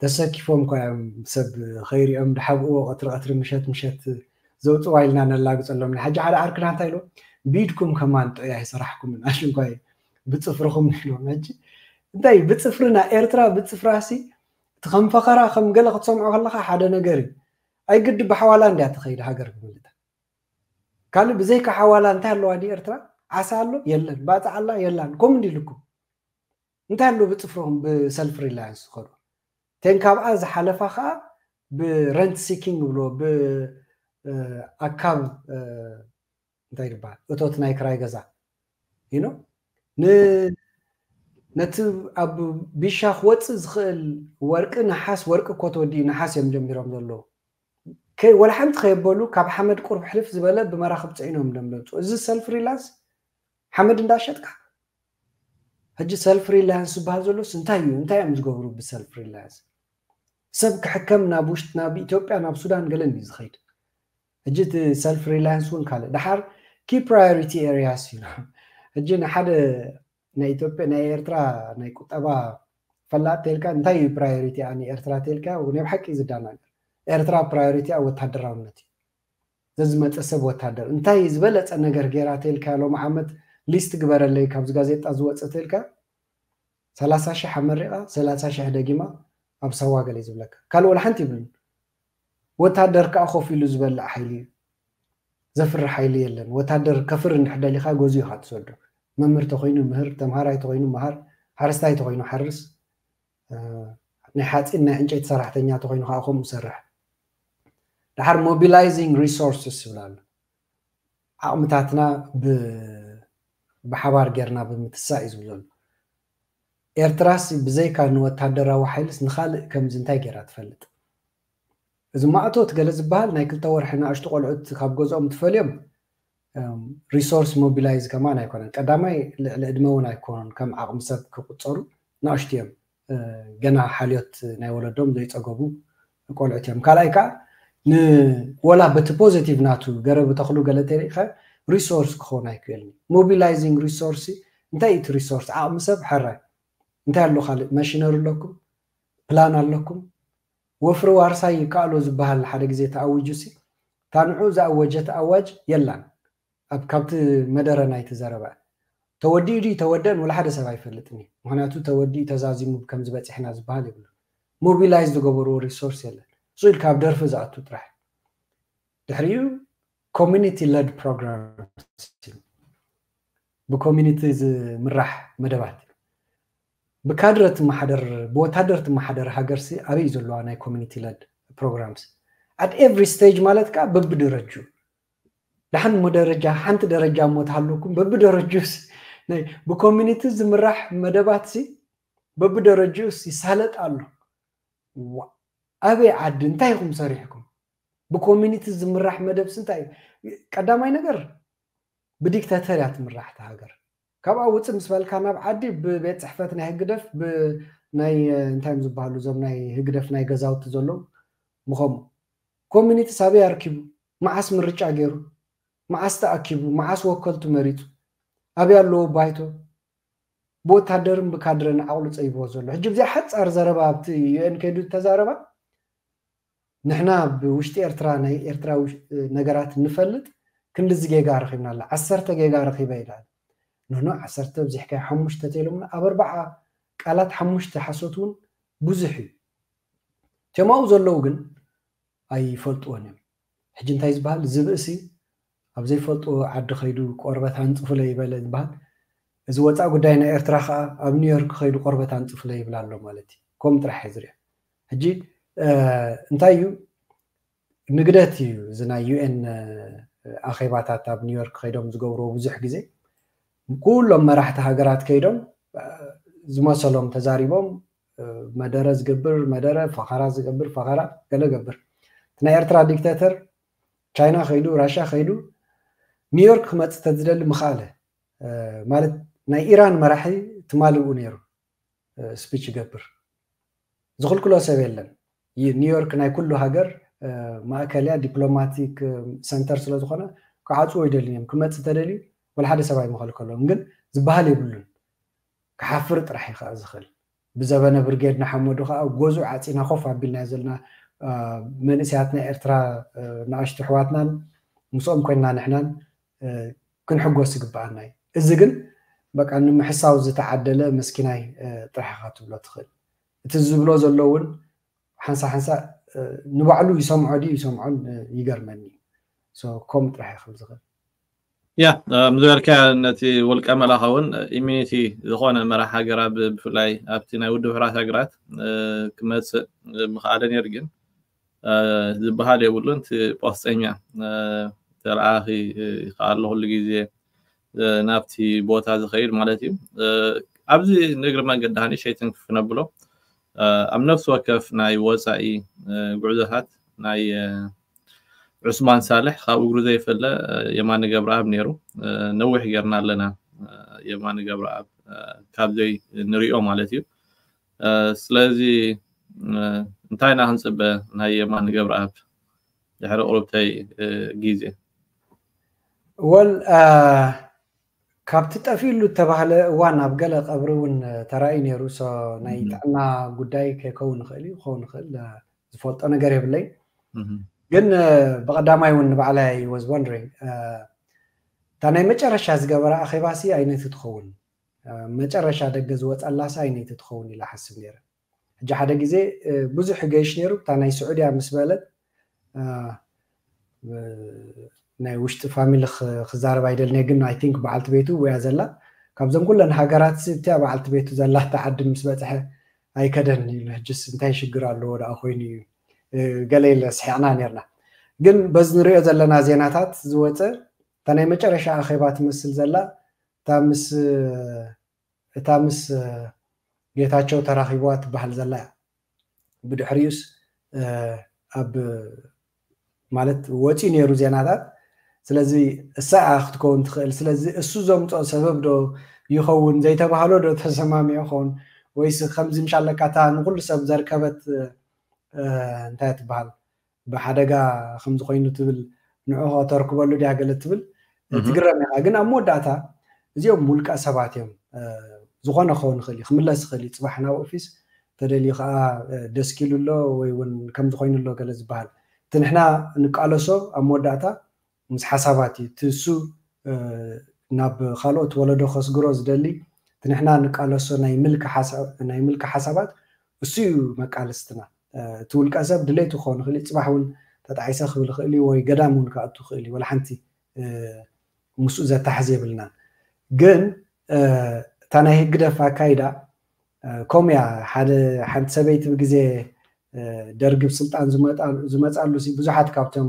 ተሰኪፎም እኳ እዮም ሰብ ኸይሪኦም ድሓብእዎ ቀትሪ ቀትሪ ምሸት ምሸት ዘውፅዋ ኢልና ነላግፀሎም ሕጂ ሓደ ዓርክና እንታይ ኢሎ ቢድኩም ከማን ጥዑይ ኣይሰራሕኩምን ኣሽንኳይ ብፅፍርኹም ኢሎም ሕጂ እንታይ ብፅፍርና ኤርትራ ብፅፍራሲ እቲ ከም ፈኸራ ከም ገለ ክትሰምዖ ከለካ ሓደ ነገር እዩ ኣይግዲ ብሓዋላ እንድያ ትኸይድ ሃገር ብምልታ ካልእ ብዘይካ ሓዋላ እንታይ ኣለዋ ዲ ኤርትራ ዓሳ ኣሎ የለን ባፅዓ ኣላ የላን ኮም እንዲ ኢልኩም እንታይ ኣሎ ብፅፍሮም ብሰልፍ ሪላያንስ ዝኸዱ ተን ካብኣ ዝሓለፋ ከዓ ብረንት ሲኪንግ ብሎ ብኣካብ እንታይ ይበሃል እቶት ናይ ክራይ ገዛ you know ነቲ ኣብ ቢሻ ክወፅእ ዝኽእል ወርቂ ነሓስ ወርቂ እኮ ተወዲኡ ነሓስ እዮም ጀሚሮም ዘለዉ ወላ ሓንቲ ከየበሉ ካብ ሓመድ ቁርብ ሕልፍ ዝበለ ብመራኽብ ፅዒኖም ደምለፁ እዚ ሰልፍ ሪላንስ ሓመድ እንዳሸጥካ ሕጂ ሰልፍ ሪላያንስ ዝበሃል ዘሎስ እንታይ እዩ? እንታይ እዮም ዝገብሩ ብሰልፍ ሪላያንስ? ሰብ ክሕከም ናብ ውሽጢ ናብ ኢትዮጵያ ናብ ሱዳን ገለን እዩ ዝኸይድ። ሕጂ እቲ ሰልፍ ሪላያንስ እውን ካልእ ደሓር ኪ ፕራዮሪቲ ኤሪያስ እዩ። ሕጂ ንሓደ ናይ ኢትዮጵያ ናይ ኤርትራ ናይ ቁጠባ ፈላጥ ተልካ እንታይ እዩ ፕራዮሪቲ ኣን ኤርትራ ተልካ ናይ ብሓቂ እዩ ዝዳናገር። ኤርትራ ፕራዮሪቲ ኣብ ወታደራውነት እዩ። ዘዝመፀ ሰብ ወታደር እንታይ ዝበለፀ ነገር ገይራ ተልካ ሎም ዓመት ሊስት ግበረለይ ካብዚ ጋዜጣ ዝወፀ ተልካ ሰላሳ ሺሕ ኣመሪቓ ሰላሳ ሺሕ ደጊማ ኣብ ሳዋ ገለ ዝብለካ ካልእ ወላ ሓንቲ ይብልን። ወታደር ከዓ ኮፍ ኢሉ ዝበልዕ ሓይሊ እዩ። ዘፍሪ ሓይሊ የለን። ወታደር ከፍር እንድሕር ደሊኻ ገዚኡ ኢኻ ትሰዶ። መምህር ተኮይኑ ምህር፣ ተምሃራይ ተኮይኑ መሃር፣ ሓረስታይ ተኮይኑ ሓርስ፣ ናይ ሓፂን ናይ ዕንጨይቲ ሰራሕተኛ ተኮይኑ ከዓ ከምኡ ሰርሕ። ድሓር ሞቢላይዚንግ ሪሶርስስ ይብል ኣሎ። ዓቕምታትና ብሓባር ጌርና ብምትሳእ እዩ ዝብል ዘሎ። ኤርትራስ ብዘይካ ንወታደራዊ ሓይልስ ንካልእ ከምዚ እንታይ ጌራ ትፈልጥ? እዚ ማእቶት ገለ ዝበሃል ናይ ክልተ ወርሒ ንኣሽቱ ቆልዑት ካብ ገዝኦም ትፈልዮም ሪሶርስ ሞቢላይዝ ከማን ኣይኮነን። ቀዳማይ ልዕሊ ዕድመ እውን ኣይኮኑን፣ ከም ዓቕሚ ሰብ ክቁፀሩ ንኣሽቱ እዮም። ገና ሓልዮት ናይ ወለዶም ዘይፀገቡ ቆልዑት እዮም። ካልኣይ ከዓ ንወላ በቲ ፖዚቲቭ ናቱ ገረብ ተኽሉ ገለ ተሪእኻ ሪሶርስ ክኸውን ኣይክእልን። ሞቢላይዚንግ ሪሶርስ እንታይ እቲ ሪሶርስ? ዓቕሚ ሰብ ሓራይ እንታይ ኣሎ? ካልእ ማሽነሪ ኣለኩም? ፕላን ኣለኩም? ወፍሪ ዋርሳይ ይከኣሎ ዝበሃል ሓደ ግዜ ተኣዊጁ ሲ ታንዑ ዝኣወጀት ኣዋጅ የላን። ኣብ ካብቲ መደረ ናይቲ ዘረባ ተወዲኡ ድዩ ተወደን ወላ ሓደ ሰብ ኣይፈልጥን እዩ። ምክንያቱ ተወዲኡ ተዛዚሙ ከም ዝበፅሕና ዝበሃል የብሉ። ሞቢላይዝ ዝገበርዎ ሪሶርስ የለን። እሱ ኢልካ ኣብ ደርፊ ዝኣቱ ጥራሕ። ድሕሪኡ ኮሚኒቲ ለድ ፕሮግራም ብኮሚኒቲ ዝምራሕ መደባት ብካድረ ትመሓደር ብወታደር ትመሓደር ሃገርሲ ኣበይ ዘለዋ ናይ ኮሚኒቲ ለድ ፕሮግራምስ ኣት ኤቭሪ ስቴጅ ማለት ከዓ በብደረጁ ደሓን እሞ ደረጃ ሓንቲ ደረጃ እሞ ትሃለኩም በብደረጁስ ናይ ብኮሚኒቲ ዝምራሕ መደባትሲ በብደረጁስ ይሳለጥ ኣሎ። ኣበይ ዓዲ እንታይ ኢኹም ሰሪሕኩም? ብኮሚኒቲ ዝምራሕ መደብስ እንታይ እዩ? ቀዳማይ ነገር ብዲክታተር እያ ትምራሕ እታ ሃገር። ካብኣ ውፅእ ምስ በልካ ናብ ዓዲ ብቤት ፅሕፈት ናይ ህግደፍ ብናይ እንታይ እዮም ዝበሃሉ እዞም ናይ ህግደፍ ናይ ገዛውቲ ዘለዉ ምኸምኡ ኮሚኒቲ ሳበይ ኣርኪቡ መዓስ ምርጫ ገይሩ መዓስ ተኣኪቡ መዓስ ወከልቱ መሪፁ ኣበይ ኣለዎ ባይቶ ብወታደርን ብካድረን ዓቕሉ ፀይብዎ ዘሎ ሕጂ ብዚኣ ሓፃር ዘረባ ኣብቲ ዩኤን ከይዱ ተዛረባ ንሕና ብውሽጢ ኤርትራ ናይ ኤርትራ ነገራት ንፈልጥ ክንድዚ ጌጋ ረኺብና ኣላ ዓሰርተ ጌጋ ረኺበ ኢላ ንኖ ዓሰርተ ብዚሕካ ሓሙሽተ ተኢሎምና ኣብ ኣርባዓ ቃላት ሓሙሽተ ሓሶት እውን ብዙሕ እዩ ቴማኡ ዘለዉ ግን ኣይፈልጥዎን እዮም ሕጂ እንታይ ዝበሃል ዝብእሲ ኣብ ዘይፈልጥዎ ዓዲ ከይዱ ቆርበት ኣንፅፉለ ይበለ ዝበሃል እዚ ወፃእ ጉዳይ ናይ ኤርትራ ከዓ ኣብ ኒውዮርክ ከይዱ ቆርበት ኣንፅፉለ ይብል ኣሎ ማለት እዩ ከም ጥራሕ ዝሪኦ ሕጂ እንታይ እዩ ንግደት እዩ እዚ ናይ ዩኤን ኣኼባታት ኣብ ኒውዮርክ ከይዶም ዝገብርዎ ብዙሕ ግዜ ኩሎም መራሕቲ ሃገራት ከይዶም ዝመሰሎም ተዛሪቦም መደረ ዝገብር መደረ ፈኸራ ዝገብር ፈኸራ ገለ ገብር እቲ ናይ ኤርትራ ዲክታተር ቻይና ከይዱ ራሽያ ከይዱ ኒውዮርክ ክመፅእ ተዝደሊ ምኽኣለ ማለት ናይ ኢራን መራሒ ትማልኡ ነይሩ ስፒች ይገብር ዝኽልክሎ ሰብ የለን ኒውዮርክ ናይ ኩሉ ሃገር ማእከልያ ዲፕሎማቲክ ሰንተር ስለዝኾነ ክዓፅዎ ይደልዮም ክመፅእ ተደልዩ ወላ ሓደ ሰብ ኣይመኸልከሎም ግን ዝበሃል የብሉን ክሓፍር ጥራሕ እዩ ከዓ ዝኽእል ብዘበነ ብርጌድ ንሓመዱ ከዓ ጎዙ ዓፂና ኮፍ ኣቢልና ዘለና መንእስያት ናይ ኤርትራ ንኣሽቱ ኣሕዋትናን ምስኦም ኮይንና ንሕናን ክንሕጎስ ይግበኣና እዩ እዚ ግን በቃ ንምሕሳው ዝተዓደለ መስኪናይ ጥራሕ ኢኻ ትብሎ ትኽእል እቲ ዝብሎ ዘሎ እውን ሓንሳ ሓንሳ ንባዕሉ ይሰምዖ ድዩ ይሰምዖን ይገርመኒ እዩ ከምኡ ጥራሕ ይኽእል ዝኽእል ያ ምዝበልካ ነቲ ውልቀ መላኸ እውን ኢሚኒቲ ዝኾነ መራሕ ሃገራ ብፍላይ ኣብቲ ናይ ውድብ ሕራት ሃገራት ክመፅእ ምኽኣለ ነይሩ ግን ዝበሃል የብሉን እቲ ፖስጠኛ ተለኣኺ ከኣሎ ኩሉ ግዜ ናብቲ ቦታ ዝኸይድ ማለት እዩ ኣብዚ ንእግሪ መንገዲ ሃኒ ሸይትን ክፍነብሎ ኣብ ነፍሲ ወከፍ ናይ ወፃኢ ጉዕዞታት ናይ ዑስማን ሳልሕ ካብ እግሩ ዘይፈለ የማነ ገብረኣብ ነይሩ ነዊሕ ጌርና ኣለና የማነ ገብረኣብ ካብዘይ ንሪኦ ማለት እዩ። ስለዚ እንታይ ኢና ክንፅበ ናይ የማነ ገብረኣብ ድሕሪ ቁርብተይ ግዜ? ወል ካብቲ ጠፊሉ እተባህለ እዋን ኣብ ገለ ቀብሪ እውን ተራእዩ ነይሩ። ናይ ጥዕና ጉዳይ ከይከውን ይኽእል እዩ፣ ክኸውን ይኽእል፣ ዝፈልጦ ነገር የብለይ። ግን ብቐዳማይ እውን ንባዕላይ was wondering እታ ናይ መጨረሻ ዝገበረ ኣኼባሲ ኣይነቲ ትኸውን፣ መጨረሻ ደገ ዝወፀላሲ ኣይነቲ ትኸውን ኢላ ሓስብ ነይረ። ሕጂ ሓደ ግዜ ብዙሕ ገይሽ ነይሩ። እታ ናይ ስዑድያ ምስ በለት ናይ ውሽጢ ፋሚሊ ክዛረብ ኣይደልነ፣ ግን I think በዓልቲ ቤቱ ወያ ዘላ ካብዞም ኩለን ሃገራት እቲያ በዓልቲ ቤቱ ዘላ እታ ዓዲ ምስ በፅሐ ኣይከደን ኢሉ፣ ሕጅስ እንታይ ሽግር ኣለዎ ደኣ ኮይኑ እዩ ገለ ኢለ ስሒቕና ነርና። ግን በዚ ንሪኦ ዘለና ዜናታት ዝወፀ እታ ናይ መጨረሻ ኣኼባ ትመስል ዘላ እታ ምስ እታ ምስ ጌታቸው ተራኺብዋ ትበሃል ዘላ እያ። ብድሕሪኡስ ኣብ ማለት ወፂኡ ነይሩ ዜናታት። ስለዚ እሳ ክትከውን ትኽእል። ስለዚ እሱ ዘምፅኦ ሰበብ ዶ ይኸውን ዘይተባህሎ ዶ ተሰማሚዑ ኸውን ወይስ ከምዚ ምሻለካ እታ ንኩሉ ሰብ ዘርከበት እንታይ ትበሃል ብሓደጋ ከምዚ ኮይኑ ትብል ንዑ ከተርክበሉ ድያ ገለ ትብል ትግረም ኢኻ። ግን ኣብ መወዳእታ እዚኦም ውልቀ ሰባት እዮም። ዝኾነ ክኸውን ይኽእል እዩ፣ ክምለስ ይኽእል እዩ። ፅባሕ ናብ ኦፊስ ተደልዩ ከዓ ደስኪሉ ኣሎ ወይ እውን ከምዚ ኮይኑ ኣሎ ገለ ዝበሃል እቲ ንሕና ንቃለሶ ኣብ መወዳእታ ምስ ሓሳባት እዩ። እቲ እሱ ናብ ካልኦት ወለዶ ከስግሮ ዝደሊ እቲ ንሕና ንቃለሶ ናይ ምልኪ ሓሳባት እሱ እዩ መቃለስትና። እቲ ውልቀ ሰብ ድሌቱ ክኸውን ይኽእል እዩ፣ ፅባሕ እውን ተጣዒሰ ክብል ይኽእል እዩ ወይ ገዳም እውን ክኣቱ ይኽእል እዩ። ወላ ሓንቲ ምስኡ ዘታሕዝ የብልናን። ግን እታ ናይ ህግደፍ ኣካይዳ ከምኡ እያ። ሓደ ሓንቲ ሰበይቲ ብግዜ ደርጊ ብስልጣን ዝመፃሉ ብዙሓት ካብቶም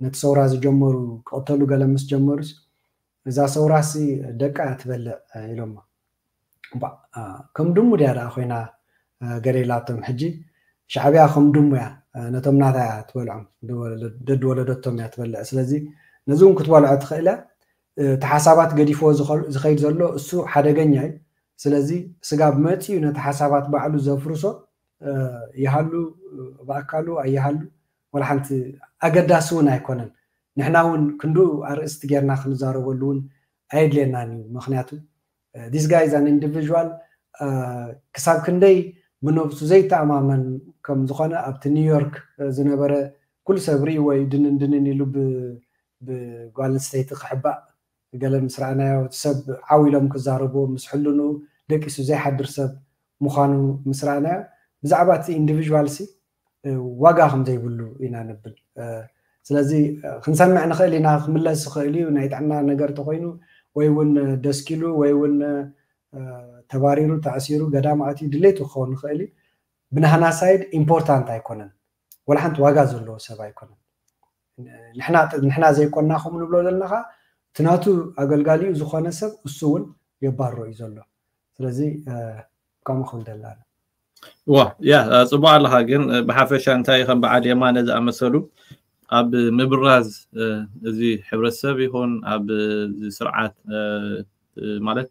ነቲ ሰውራ ዝጀመሩ ክቕተሉ ገለ ምስ ጀመሩስ እዛ ሰውራሲ ደቃ እያ ትበልዕ ኢሎማ። ከም ድሙ ድያ ደኣ ኮይና ገለ ኢላቶም። ሕጂ ሻዕብያ ከም ድሙ እያ ነቶም ናታ እያ ትበልዖም፣ ደድ ወለደቶም እያ ትበልዕ። ስለዚ ነዚ እውን ክትበልዖ ትኽእል እያ። እቲ ሓሳባት ገዲፍዎ ዝኸይድ ዘሎ እሱ ሓደገኛ እዩ። ስለዚ ስጋብ መፂኡ ነቲ ሓሳባት ባዕሉ ዘፍርሶ ይሃሉ ብኣካሉ ኣይሃሉ ወላ ሓንቲ ኣገዳሲ እውን ኣይኮነን። ንሕና እውን ክንዱ ኣርእስቲ ጌርና ክንዛረበሉ እውን ኣየድልየናን እዩ። ምክንያቱ this guy is an individual ክሳብ ክንደይ ብነብሱ ዘይተኣማመን ከም ዝኾነ ኣብቲ ኒውዮርክ ዝነበረ ኩሉ ሰብ ርኢ ወይ ድንን ድንን ኢሉ ብጓል ኣንስተይቲ ክሕባእ ገለ ምስ ረኣናዮ እቲ ሰብ ዓው ኢሎም ክዛረብዎ ምስ ሕልንኡ ደቂሱ ዘይሓድር ሰብ ምዃኑ ምስ ረኣናዮ ብዛዕባ እቲ ኢንዲቪዥዋል ሲ ዋጋ ከም ዘይብሉ ኢና ንብል። ስለዚ ክንሰምዕ ንኽእል ኢና፣ ክምለስ ይኽእል እዩ ናይ ጥዕና ነገር ተኮይኑ ወይ እውን ደስኪሉ ወይ እውን ተባሪሩ ተኣሲሩ ገዳም ኣትዩ ድሌቱ ክኸውን ይኽእል እዩ። ብናህና ሳይድ ኢምፖርታንት ኣይኮነን፣ ወላ ሓንቲ ዋጋ ዘለዎ ሰብ ኣይኮነን። ንሕና ዘይኮንና ከምኡ ንብሎ ዘለና ከዓ እቲ ናቱ ኣገልጋሊኡ ዝኾነ ሰብ እሱ እውን የባርሮ እዩ ዘሎ። ስለዚ ከምኡ ክብል ደላ ዋ ያ ጽቡቅ ኣለኻ። ግን ብሓፈሻ እንታይ ከም በዓል የማነ ዝኣመሰሉ ኣብ ምብራዝ እዚ ሕብረተሰብ ይኹን ኣብ ስርዓት ማለት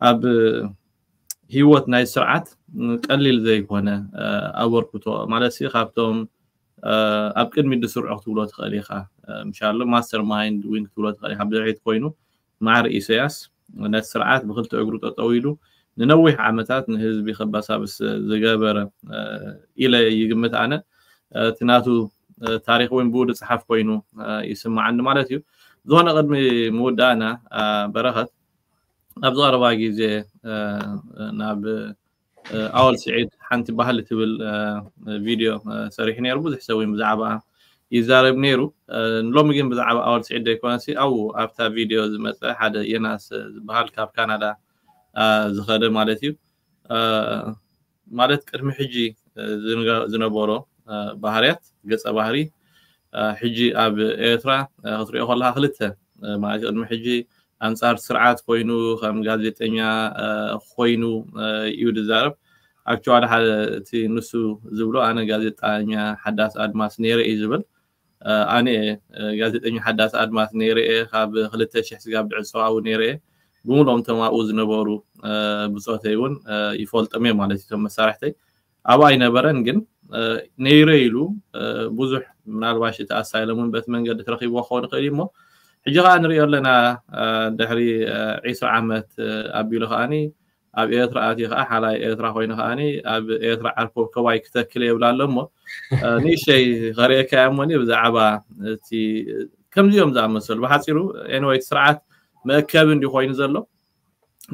ኣብ ህይወት ናይ ስርዓት ቀሊል ዘይኮነ ኣበርክቶ ማለት ሲ ካብቶም ኣብ ቅድሚ ዝስርዑ ክትብሎ ትኽእል ኢኻ። ምሻሎ ማስተር ማይንድ ዊን ክትብሎ ትኽእል ኢኻ። ብድሕሪት ኮይኑ ማዕር ኢሰያስ ነቲ ስርዓት ብክልተ እግሩ ጠጠው ኢሉ ንነዊሕ ዓመታት ንህዝቢ ከባሳብስ ዝገበረ ኢለ ይግምት ኣነ። እቲ ናቱ ታሪክ እውን ብኡ ዝፅሓፍ ኮይኑ ይስማዓኒ ማለት እዩ። ዝኾነ ቅድሚ ምውዳእና በረኸት ኣብዚ ቀረባ ግዜ ናብ ኣወል ስዒድ ሓንቲ ባህሊ ትብል ቪድዮ ሰሪሑ ነይሩ። ብዙሕ ሰብ እውን ብዛዕባ ይዛረብ ነይሩ። ሎሚ ግን ብዛዕባ ኣወል ስዒድ ዘይኮነሲ ኣብኡ ኣብታ ቪድዮ ዝመፀ ሓደ የናስ ዝበሃል ካብ ካናዳ ዝኸደ ማለት እዩ። ማለት ቅድሚ ሕጂ ዝነበሮ ባህርያት ገፀ ባህሪ ሕጂ ኣብ ኤርትራ ክትሪኦ ከለካ ክልተ ማለት ቅድሚ ሕጂ ኣንጻር ስርዓት ኮይኑ ከም ጋዜጠኛ ኮይኑ እዩ ዝዛረብ። ኣክቹዋሊ ሓደ እቲ ንሱ ዝብሎ ኣነ ጋዜጠኛ ሓዳስ ኣድማስ ነይረ እዩ ዝብል። ኣነ ጋዜጠኛ ሓዳስ ኣድማስ ነይረ እየ ካብ ክልተ ሽሕ ስጋብ ድዕፀዋዊ ነይረ እየ። ብምሎም እቶም ኣብኡ ዝነበሩ ብፆተይ እውን ይፈልጦም እየ ማለት እዩ። እቶም መሳርሕተይ ኣብኡ ኣይነበረን፣ ግን ነይረ ኢሉ ብዙሕ ምናልባሽ እቲ ኣሳይሎም እውን በቲ መንገዲ ትረኪብዎ ክኸውን ይኽእል እዩ። እሞ ሕጂ ከዓ ንሪኦ ኣለና፣ ድሕሪ ዒስራ ዓመት ኣቢሉ ከዓኒ ኣብ ኤርትራ ኣትዩ ከዓ ሓላይ ኤርትራ ኮይኑ ከዓኒ ኣብ ኤርትራ ዓርኮብ ከዋይ ክተክል የብላ ኣሎ። እሞ ንእሽተይ ከርእየካ እያ እሞኒ ብዛዕባ እቲ ከምዚኦም ዝኣመሰሉ ብሓፂሩ ኤንወይ እቲ ስርዓት መእከቢ እንዲ ኮይኑ ዘሎ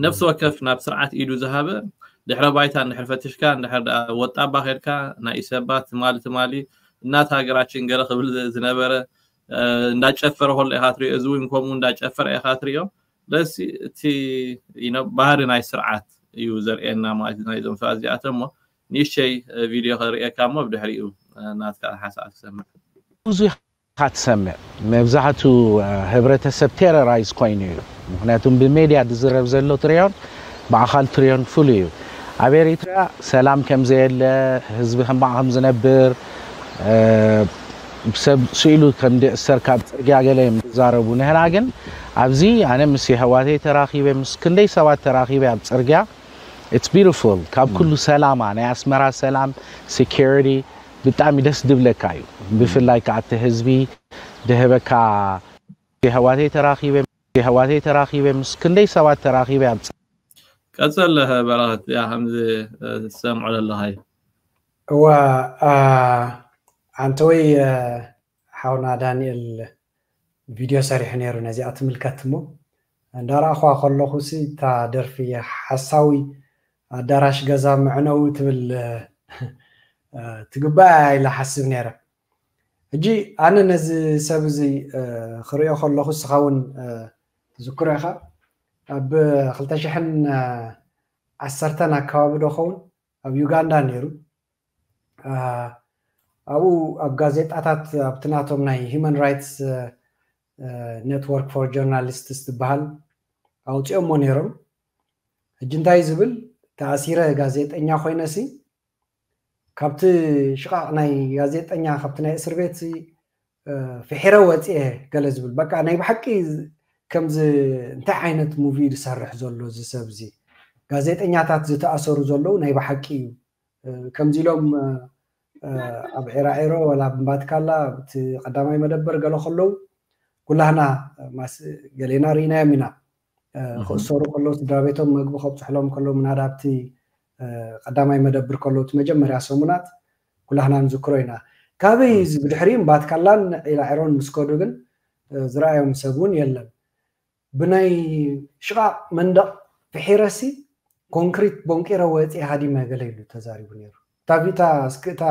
ነፍሲ ወከፍ ናብ ስርዓት ኢዱ ዝሃበ ድሕረ ባይታ እንድሕር ፈትሽካ እንድሕር ደኣ ወጣባ ከድካ ናይ ኢሰባ ትማሊ ትማሊ እናት ሃገራችን ገለ ክብል ዝነበረ እንዳጨፈረ ከሎ ኢኻ ትሪኦ። እዚ እውን ከምኡ እንዳጨፈረ ኢኻ ትሪኦ። ለሲ እቲ ባህሪ ናይ ስርዓት እዩ ዘርእየና ማለት ናይዞም ሰባት እዚኣቶም። እሞ ንእሽተይ ቪድዮ ከርእየካ እሞ ብድሕሪኡ ናትካ ሓሳብ ክሰምዕ። ብዙ ኢኻ ትሰምዕ። መብዛሕቱ ህብረተሰብ ቴረራይዝ ኮይኑ እዩ። ምክንያቱም ብሜድያ ዝዝረብ ዘሎ ትሪዮን ብኣኻል ትሪዮን ፍሉ እዩ። ኣብ ኤሪትራ ሰላም ከም ዘየለ፣ ህዝቢ ሕማቕ ከም ዝነብር፣ ሰብ ስኢሉ ከም ዝእሰር ካብ ፅርግያ ገለ እዮም ዝዛረቡ። ንሕና ግን ኣብዚ ኣነ ምስ የሕዋተይ ተራኺበ ምስ ክንደይ ሰባት ተራኺበ ኣብ ፅርግያ it's beautiful። ካብ ኩሉ ሰላማ ናይ ኣስመራ ሰላም፣ ሴኩሪቲ ብጣዕሚ ደስ ድብለካ እዩ። ብፍላይ ከዓ እቲ ህዝቢ ድህበካ የሕዋተይ ተራኺበ ምስ ክንደይ ሰባት ተራኺበ ኣብ ቀፅል በረኸት ያ ከምዚ ዝሰምዖ ዘለኻዩ እዋ ኣንተ ወይ ሓውና ዳንኤል ቪድዮ ሰሪሑ ነይሩ ነዚኣ ትምልከት እሞ እንዳረኣኹዋ ከለኹ ሲ እታ ደርፊ ሓሳዊ ኣዳራሽ ገዛ መዕነዊ ትብል ትግባእ ኢለ ሓስብ ነይረ። ሕጂ ኣነ ነዚ ሰብ እዚ ክሪኦ ከለኹ እስኻ እውን ትዝክሮ ኢኻ ኣብ ክልተ ሽሕን ዓሰርተን ኣካባቢ ዶ ኸውን ኣብ ዩጋንዳ ነይሩ ኣብኡ ኣብ ጋዜጣታት ኣብቲ ናቶም ናይ human rights network for journalists ዝበሃል ኣውፂኦሞ ነይሮም። ሕጂ እንታይ ዝብል ተኣሲረ ጋዜጠኛ ኮይነ ሲ ካብቲ ሽቓቕ ናይ ጋዜጠኛ ካብቲ ናይ እስር ቤት ፍሒረ ወፅኤ ገለ ዝብል በቃ ናይ ብሓቂ ከምዚ እንታይ ዓይነት ሙቪ ዝሰርሕ ዘሎ እዚ ሰብ እዚ ጋዜጠኛታት ዝተኣሰሩ ዘለዉ ናይ ብሓቂ እዩ ከምዚ ኢሎም ኣብ ዒራዒሮ ወላ ብምባትካላ እቲ ቀዳማይ መደበር ገለ ከለዉ ኩላህና ገሌና ርኢናዮም ኢና ክእሰሩ ከለዉ ስድራ ቤቶም መግቢ ከብፅሕሎም ከለዉ ምናዳ ኣብቲ ቀዳማይ መደብር ከለዉ እቲ መጀመርያ ሰሙናት ኩላህና ንዝክሮ ኢና። ካበይ እዚ ብድሕሪኡ እምባትካላን ዒራዒሮን ምስ ከዱ ግን ዝረኣዮም ሰብ እውን የለን። ብናይ ሽቓቕ መንደቕ ፍሒረሲ ኮንክሪት ቦንቂረ ወፂ ሃዲመ ገለ ኢሉ ተዛሪቡ ነይሩ። እታ ቪታ እስክእታ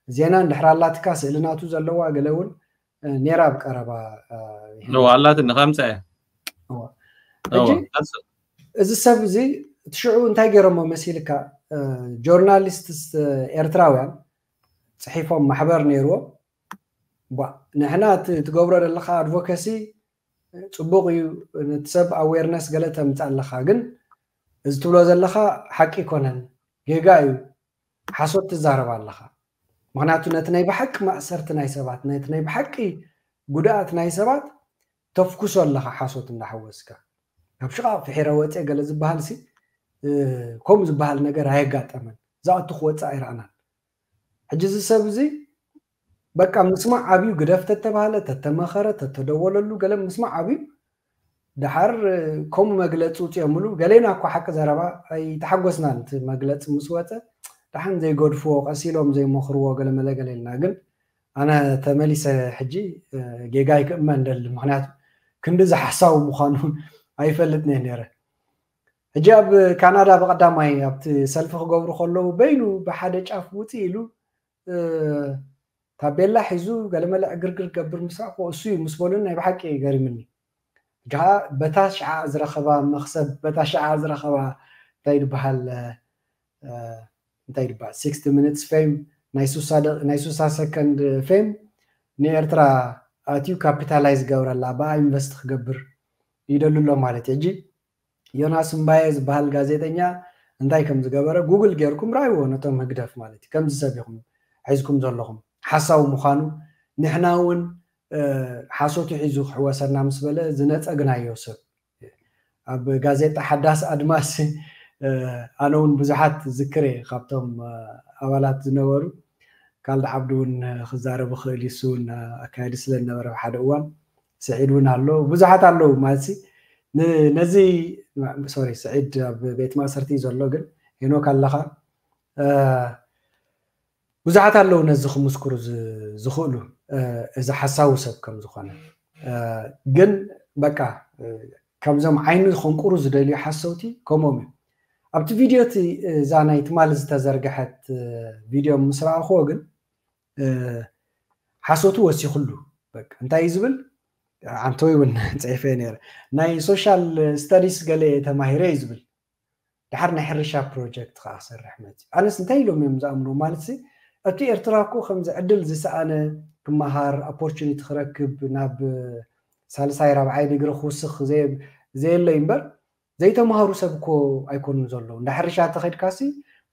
ዜና እንድሕር ኣላትካ ስእሊ ናቱ ዘለዋ ገለ እውን ነይራ ኣብ ቀረባ ኣለትኒ ከምፀ እዚ ሰብ እዚ እቲ ሽዑ እንታይ ገይሮሞ መሲልካ ጆርናሊስትስ ኤርትራውያን ፅሒፎም ማሕበር ነይርዎም ንሕና ትገብሮ ዘለካ ኣድቮኬሲ ፅቡቅ እዩ ነቲ ሰብ ኣዌርነስ ገለ ተምፅእ ኣለካ ግን እዚ ትብሎ ዘለካ ሓቂ ይኮነን ጌጋ እዩ ሓሶት ትዛረብ ኣለካ ምክንያቱ ነቲ ናይ ብሓቂ ማእሰርቲ ናይ ሰባት ነቲ ናይ ብሓቂ ጉድኣት ናይ ሰባት ተፍኩሶ ኣለካ ሓሶት እንዳሓወስካ ካብ ሽቓቕ ፍሒረ ወፀ ገለ ዝበሃል ሲ ከምኡ ዝበሃል ነገር ኣየጋጠመን ዝኣቱ ክወፅእ ኣይረኣናን ሕጂ እዚ ሰብ እዚ በቃ ምስማዕ ዓብዩ ግደፍ ተተባሃለ ተተመኸረ ተተደወለሉ ገለ ምስማዕ ዓብዩ ደሓር ከምኡ መግለፂ ውፅኦምሉ ገሌና እኳ ሓቂ ዘረባ ኣይተሓጎስናን እቲ መግለፂ ምስ ወፀ ደሓን ዘይገድፍዎ ቀሲሎም ዘይመኽርዎ ገለመለ ገለ ኢልና ግን ኣነ ተመሊሰ ሕጂ ጌጋይ ክእመን ደሊ ምክንያቱ ክንዲ ዝሓሳዊ ምዃኑ ኣይፈልጥን እየ ነይረ ሕጂ ኣብ ካናዳ ብቀዳማይ ኣብቲ ሰልፊ ክገብሩ ከለዉ በይኑ ብሓደ ጫፍ ውፅእ ኢሉ ታቤላ ሒዙ ገለመለ ዕግርግር ገብር ምስ ረኣኹ እሱ እዩ ምስ በሉኒ ናይ ብሓቂ ገሪምኒ። ሕጂ ከዓ በታ ሽዓ ዝረኸባ መኽሰብ በታ ሽዓ ዝረኸባ እንታይ ዝበሃል እንታይ ዝበሃል sixty minutes fame ናይ ሱሳ ሰከንድ fame ንኤርትራ ኣትዩ ካፒታላይዝ ገብረላ ብኣ ኢንቨስት ክገብር ይደሉ ኣሎ ማለት እዩ። ሕጂ ዮናስ እምባየ ዝበሃል ጋዜጠኛ እንታይ ከም ዝገበረ ጉግል ጌርኩም ራይዎ ነቶም ህግደፍ ማለት እዩ ከምዚ ሰብ ኢኹም ሒዝኩም ዘለኹም ሓሳዊ ምዃኑ ንሕና እውን ሓሶቱ ሒዙ ክሕወሰና ምስ በለ ዝነፀግናዮ ሰብ ኣብ ጋዜጣ ሓዳስ ኣድማስ ኣነ እውን ብዙሓት ዝክር እየ ካብቶም ኣባላት ዝነበሩ። ካልድ ዓብዱ እውን ክዛረብ ይኽእል እዩ። እሱ እውን ኣካያዲ ስለ ዝነበረ ሓደ እዋን ስዒድ እውን ኣሎ፣ ብዙሓት ኣለዉ ማለት ነዚ ሶሪ ስዒድ ኣብ ቤት ማእሰርቲ እዩ ዘሎ፣ ግን ሄኖክ ኣለኻ ብዙሓት ኣለዉ ነዚ ክምስክሩ ዝኽእሉ እዚ ሓሳዊ ሰብ ከም ዝኾነ። ግን በቃ ከምዞም ዓይኒ ከንቁሩ ዝደልዩ ሓሰውቲ ከምኦም እዮም። ኣብቲ ቪድዮ እቲ እዛ ናይ ትማሊ ዝተዘርግሐት ቪድዮ ምስ ረኣኽዎ ግን ሓሶቱ ወሲኹሉ። በቃ እንታይ እዩ ዝብል? ዓንተወይ እውን ፅሒፈ ነይረ። ናይ ሶሻል ስተዲስ ገለ ተማሂረ እዩ ዝብል። ድሓር ናይ ሕርሻ ፕሮጀክት ከዓ ክሰርሕ መፅእ። ኣነስ እንታይ ኢሎም እዮም ዝኣምኑ ማለት ሲ እቲ ኤርትራ እኮ ከምዚ ዕድል ዝሰኣነ ክመሃር ኦፖርቹኒቲ ክረክብ ናብ ሳልሳይ ራብዓይ ዲግሪ ክውስኽ ዘየለይ እምበር ዘይተምሃሩ ሰብ እኮ ኣይኮኑን ዘለዉ። እንዳ ሕርሻ ተኸድካሲ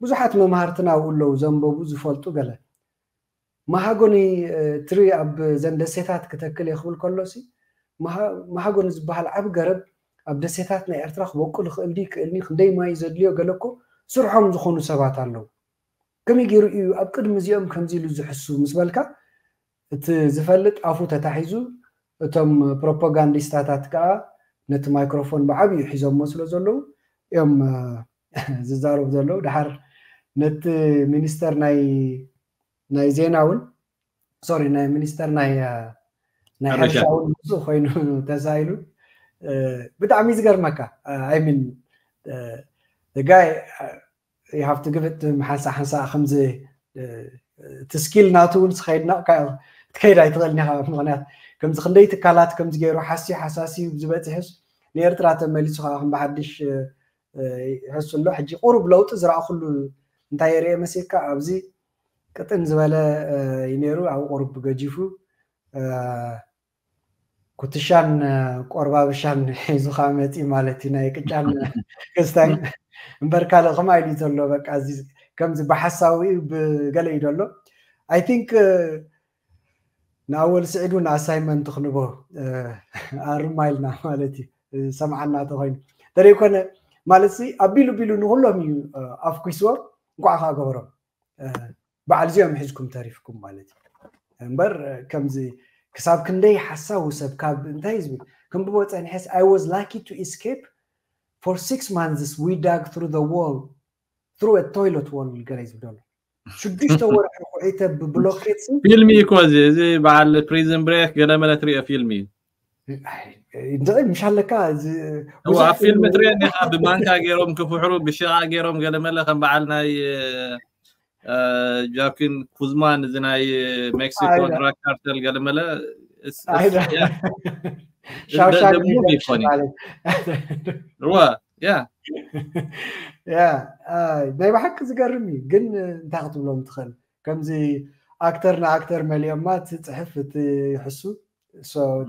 ብዙሓት መምሃርትና ኣብኡ ኣለዉ ዘንበቡ ዝፈልጡ ገለ መሃጎኒ ትሪ ኣብ ዘን ደሴታት ክተክል እየ ክብል ከሎሲ መሃጎኒ ዝበሃል ዓብ ገረብ ኣብ ደሴታት ናይ ኤርትራ ክበቁል ይኽእል ድዩ ክእልኒ ክንደይ ማይ ዘድልዮ ገለ እኮ ስርሖም ዝኾኑ ሰባት ኣለዉ። ከመይ ገይሩ እዩ ኣብ ቅድሚ እዚኦም ከምዚ ኢሉ ዝሕሱ ምስ በልካ እቲ ዝፈልጥ ኣፉ ተታሒዙ እቶም ፕሮፓጋንዲስታታት ከዓ ነቲ ማይክሮፎን ብዓብዩ ሒዞሞ ስለ ዘለዉ እዮም ዝዛረቡ ዘለዉ። ድሓር ነቲ ሚኒስተር ናይ ናይ ዜና እውን ሶሪ ናይ ሚኒስተር ናይ ናይ ሕርሻ እውን ምስኡ ኮይኑ ተሳኢሉ ብጣዕሚ ዝገርመካ I mean the guy you have to give it ሓንሳእ ሓንሳእ ከምዚ እቲ ስኪል ናቱ እውን ስኸይድና ትከይድ ኣይትኽእልን ኢኻ። ምክንያት ከምዚ ክንደይ ትካላት ከምዚ ገይሩ ሓስዩ ሓሳስዩ ዝበፅሕስ ንኤርትራ ተመሊሱ ከዓ ከም ብሓድሽ ይሕሱ ኣሎ። ሕጂ ቁሩብ ለውጢ ዝረኣኹሉ እንታይ የርእየ መሲልካ ኣብዚ ቅጥን ዝበለ እዩ ነይሩ። ኣብ ቁሩብ ገጂፉ ኩትሻን ቆርባብሻን ሒዙ ከዓ መፂ ማለት እዩ። ናይ ቅጫን ክስታይ እምበር ካልእ ከምኣ ኢሉ ዘሎ በቃ እዚ ከምዚ ብሓሳዊ ብገለ እዩ ዘሎ። I think ንኣወል ስዒድ እውን ኣሳይመንት ክንቦ ኣርማ ኢልና ማለት እዩ። ሰምዓና ተኮይኑ ተደይኮነ ማለት ሲ ኣቢሉ ቢሉ ንኩሎም እዩ ኣፍኩስዎ። እንኳዕ ከዓ ገበሮም በዓል እዚኦም ሒዝኩም ተሪፍኩም ማለት እዩ። እምበር ከምዚ ክሳብ ክንደይ ሓሳዊ ሰብ ካብ እንታይ ዝብል ክንብቦ ፀኒሐስ I was lucky to escape for six months we dug through the wall through a toilet wall ገለ ዝብደሎ ሽዱሽተ ወርሒ ኩዒተ ብብሎኬት ፊልም እዩ እኮ እዚ እዚ በዓል ፕሪዝን ብሬክ ገለመለ ትሪኦ ፊልም እዩ። እንታይ ምሽ ኣለካ ኣብ ፊልም ትሪኦ ኔኻ ብማንካ ገይሮም ክፍሕሩ ብሽቓ ገይሮም ገለመለ ከም በዓል ናይ ጃኪን ኩዝማን እዚ ናይ ሜክሲኮ ድራግ ካርተል ገለመለ ሻውሻንክ ይኮን ያ ያ ናይ ብሓቂ ዝገርም እዩ። ግን እንታይ ክትብሎም ትኽእል ከምዚ ኣክተር ንኣክተር መሊኦማ እቲ ፅሕፍ እቲ ይሕሱ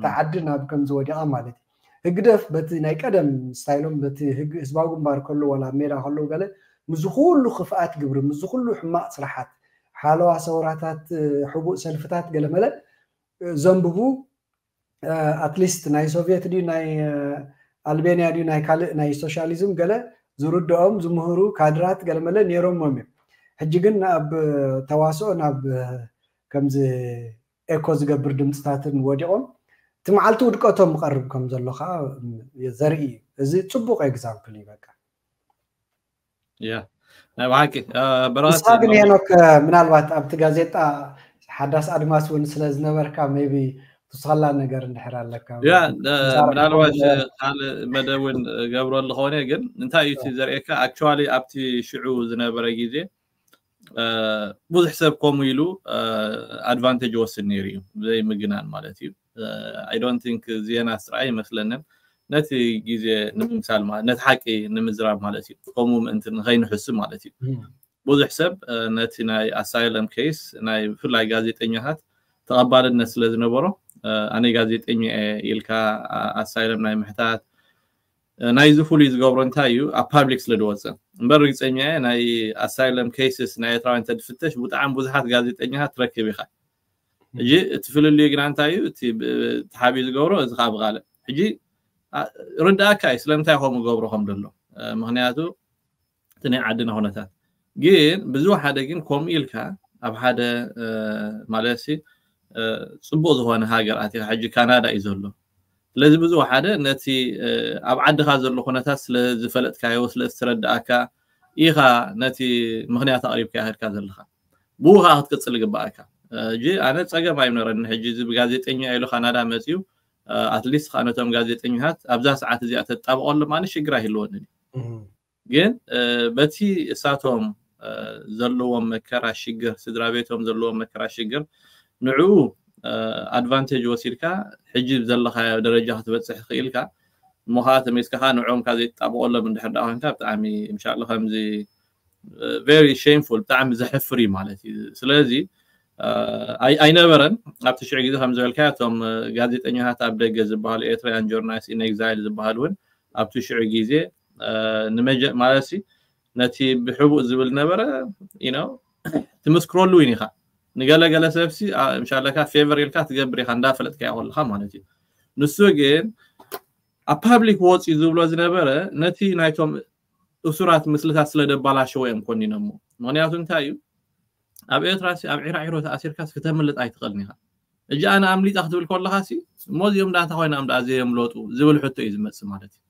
ተዓዲ ናብ ከምዚ ወዲቓ ማለት እዩ። ህግደፍ በቲ ናይ ቀደም ስታይሎም በቲ ህዝባዊ ግንባር ከሎ ዋላ ኣብ ሜዳ ከለዉ ገለ ምዚ ኩሉ ክፍኣት ግብሪ ምዚ ኩሉ ሕማቕ ስራሓት ሓለዋ ሰውራታት ሕቡእ ሰልፍታት ገለመለ ዘንብቡ ኣትሊስት ናይ ሶቪየት ድዩ ናይ ኣልቤንያ ድዩ ናይ ካልእ ናይ ሶሻሊዝም ገለ ዝርድኦም ዝምህሩ ካድራት ገለመለ ነይሮሞም እዮም። ሕጂ ግን ናብ ተዋስኦ ናብ ከምዚ ኤኮ ዝገብር ድምፅታትን ወዲቖም እቲ መዓልቲ ውድቀቶም ይቐርብ ከም ዘሎ ከዓ ዘርኢ እዩ። እዚ ፅቡቅ ኤግዛምፕል እዩ። በቃ ያ ናይ ብሓቂ ንስኻ ግን ሄኖክ ምናልባት ኣብቲ ጋዜጣ ሓዳስ ኣድማስ እውን ስለ ዝነበርካ ሜቢ ትስኸላ ነገር እንድሕር ኣለካ ያ ምናልባት ካልእ መደብ እውን ገብረሉ ከሆነ ግን እንታይ እዩ ዘርእየካ actually ኣብቲ ሽዑ ዝነበረ ግዜ ብዙሕ ሰብ ከምኡ ኢሉ ኣድቫንቴጅ ወስድ ነይሩ እዩ ብዘይ ምግናን ማለት እዩ። I don't think ዜና ስራይ ይመስለንን ነቲ ግዜ ንምምሳል ማለት ነቲ ሓቂ ንምዝራብ ማለት እዩ። ከምኡ ምእንቲ ንኸይንሕሱ ማለት እዩ። ብዙሕ ሰብ ነቲ ናይ ኣሳይለም ኬስ ናይ ብፍላይ ጋዜጠኛታት ተቐባልነት ስለ ዝነበሮ ኣነ ጋዜጠኛ ኢልካ ኣሳይለም ናይ ምሕታት ናይዚ ፍሉይ ዝገብሮ እንታይ እዩ ኣብ ፓብሊክ ስለ ዝወፀ እምበር ርግፀኛ ናይ ኣሳይለም ኬስስ ናይ ኤርትራውያን ተድፍተሽ ብጣዕሚ ብዙሓት ጋዜጠኛታት ትረክብ ኢኻ። ሕጂ እቲ ፍልልዩ ግና እንታይ እዩ እቲ ተሓቢኡ ዝገብሮ እዚ ከዓ ብቃልዕ ሕጂ ርዳእካ እዩ ስለምንታይ ከምኡ ገብሮ ከም ደሎ። ምክንያቱ እቲ ናይ ዓድና ኩነታት ግን ብዝወሓደ ግን ከምኡ ኢልካ ኣብ ሓደ ማለት ሲ ጽቡቅ ዝኾነ ሃገር ኣቲኻ ሕጂ ካናዳ እዩ ዘሎ። ስለዚ ብዝወሓደ ነቲ ኣብ ዓድኻ ዘሎ ኩነታት ስለ ዝፈለጥካዮ ስለ ዝተረዳእካ ኢኻ ነቲ ምክንያት ኣቕሪብካ ይኸድካ ዘለኻ። ብኡ ከዓ ክትቅፅል ይግባእካ። እጂ ኣነ ፀገም ኣይምነረኒ። ሕጂ እዚ ብጋዜጠኛ ኢሉ ካናዳ መፅዩ ኣትሊስት ከዓ ነቶም ጋዜጠኛታት ኣብዛ ሰዓት እዚኣ ተጣብቀሎም ኣነ ሽግር ኣይህልወንን። ግን በቲ እሳቶም ዘለዎም መከራ ሽግር፣ ስድራ ቤቶም ዘለዎም መከራ ሽግር ንዕኡ ኣድቫንቴጅ ወሲድካ ሕጂ ዘለካ ደረጃ ክትበፅሕ ክኢልካ እሞ ከዓ ተመይስካ ከዓ ንዕኦም ከዓ ዘይትጣብቀሎም እንድሕር ዳ ኮንካ ብጣዕሚ እንሻላ ከምዚ very shameful ብጣዕሚ ዘሕፍር እዩ ማለት እዩ። ስለዚ ኣይነበረን ኣብቲ ሽዑ ግዜ ከም ዝበልካ እቶም ጋዜጠኛታት ኣብ ደገ ዝበሃሉ ኤርትራውያን journalist in exile ዝበሃሉ እውን ኣብቲ ሽዑ ግዜ ማለት ነቲ ብሕቡእ ዝብል ነበረ ትምስክረሉ እውን ኢኻ። ንገለገለ ሰብሲ ምሻለካ ፌቨር ኢልካ ትገብር ኢኻ እንዳፈለጥካዮ ከለካ ማለት እዩ። ንሱ ግን ኣብ ፓብሊክ ወፂኡ ዝብሎ ዝነበረ ነቲ ናይቶም እሱራት ምስልታት ስለ ደባላሸዎ እዮም ኮኒኖሞ። ምክንያቱ እንታይ እዩ ኣብ ኤርትራ ኣብ ዒራዒሮ ተኣሲርካስ ክተምልጥ ኣይትኽእልን ኢኻ። እጂ ኣነ ኣምሊጣ ክትብል ከለኻ ሲ እሞ እዚኦም ዳታ ኮይና እምዳ ዘየምለጡ ዝብል ሕቶ እዩ ዝመፅእ ማለት እዩ።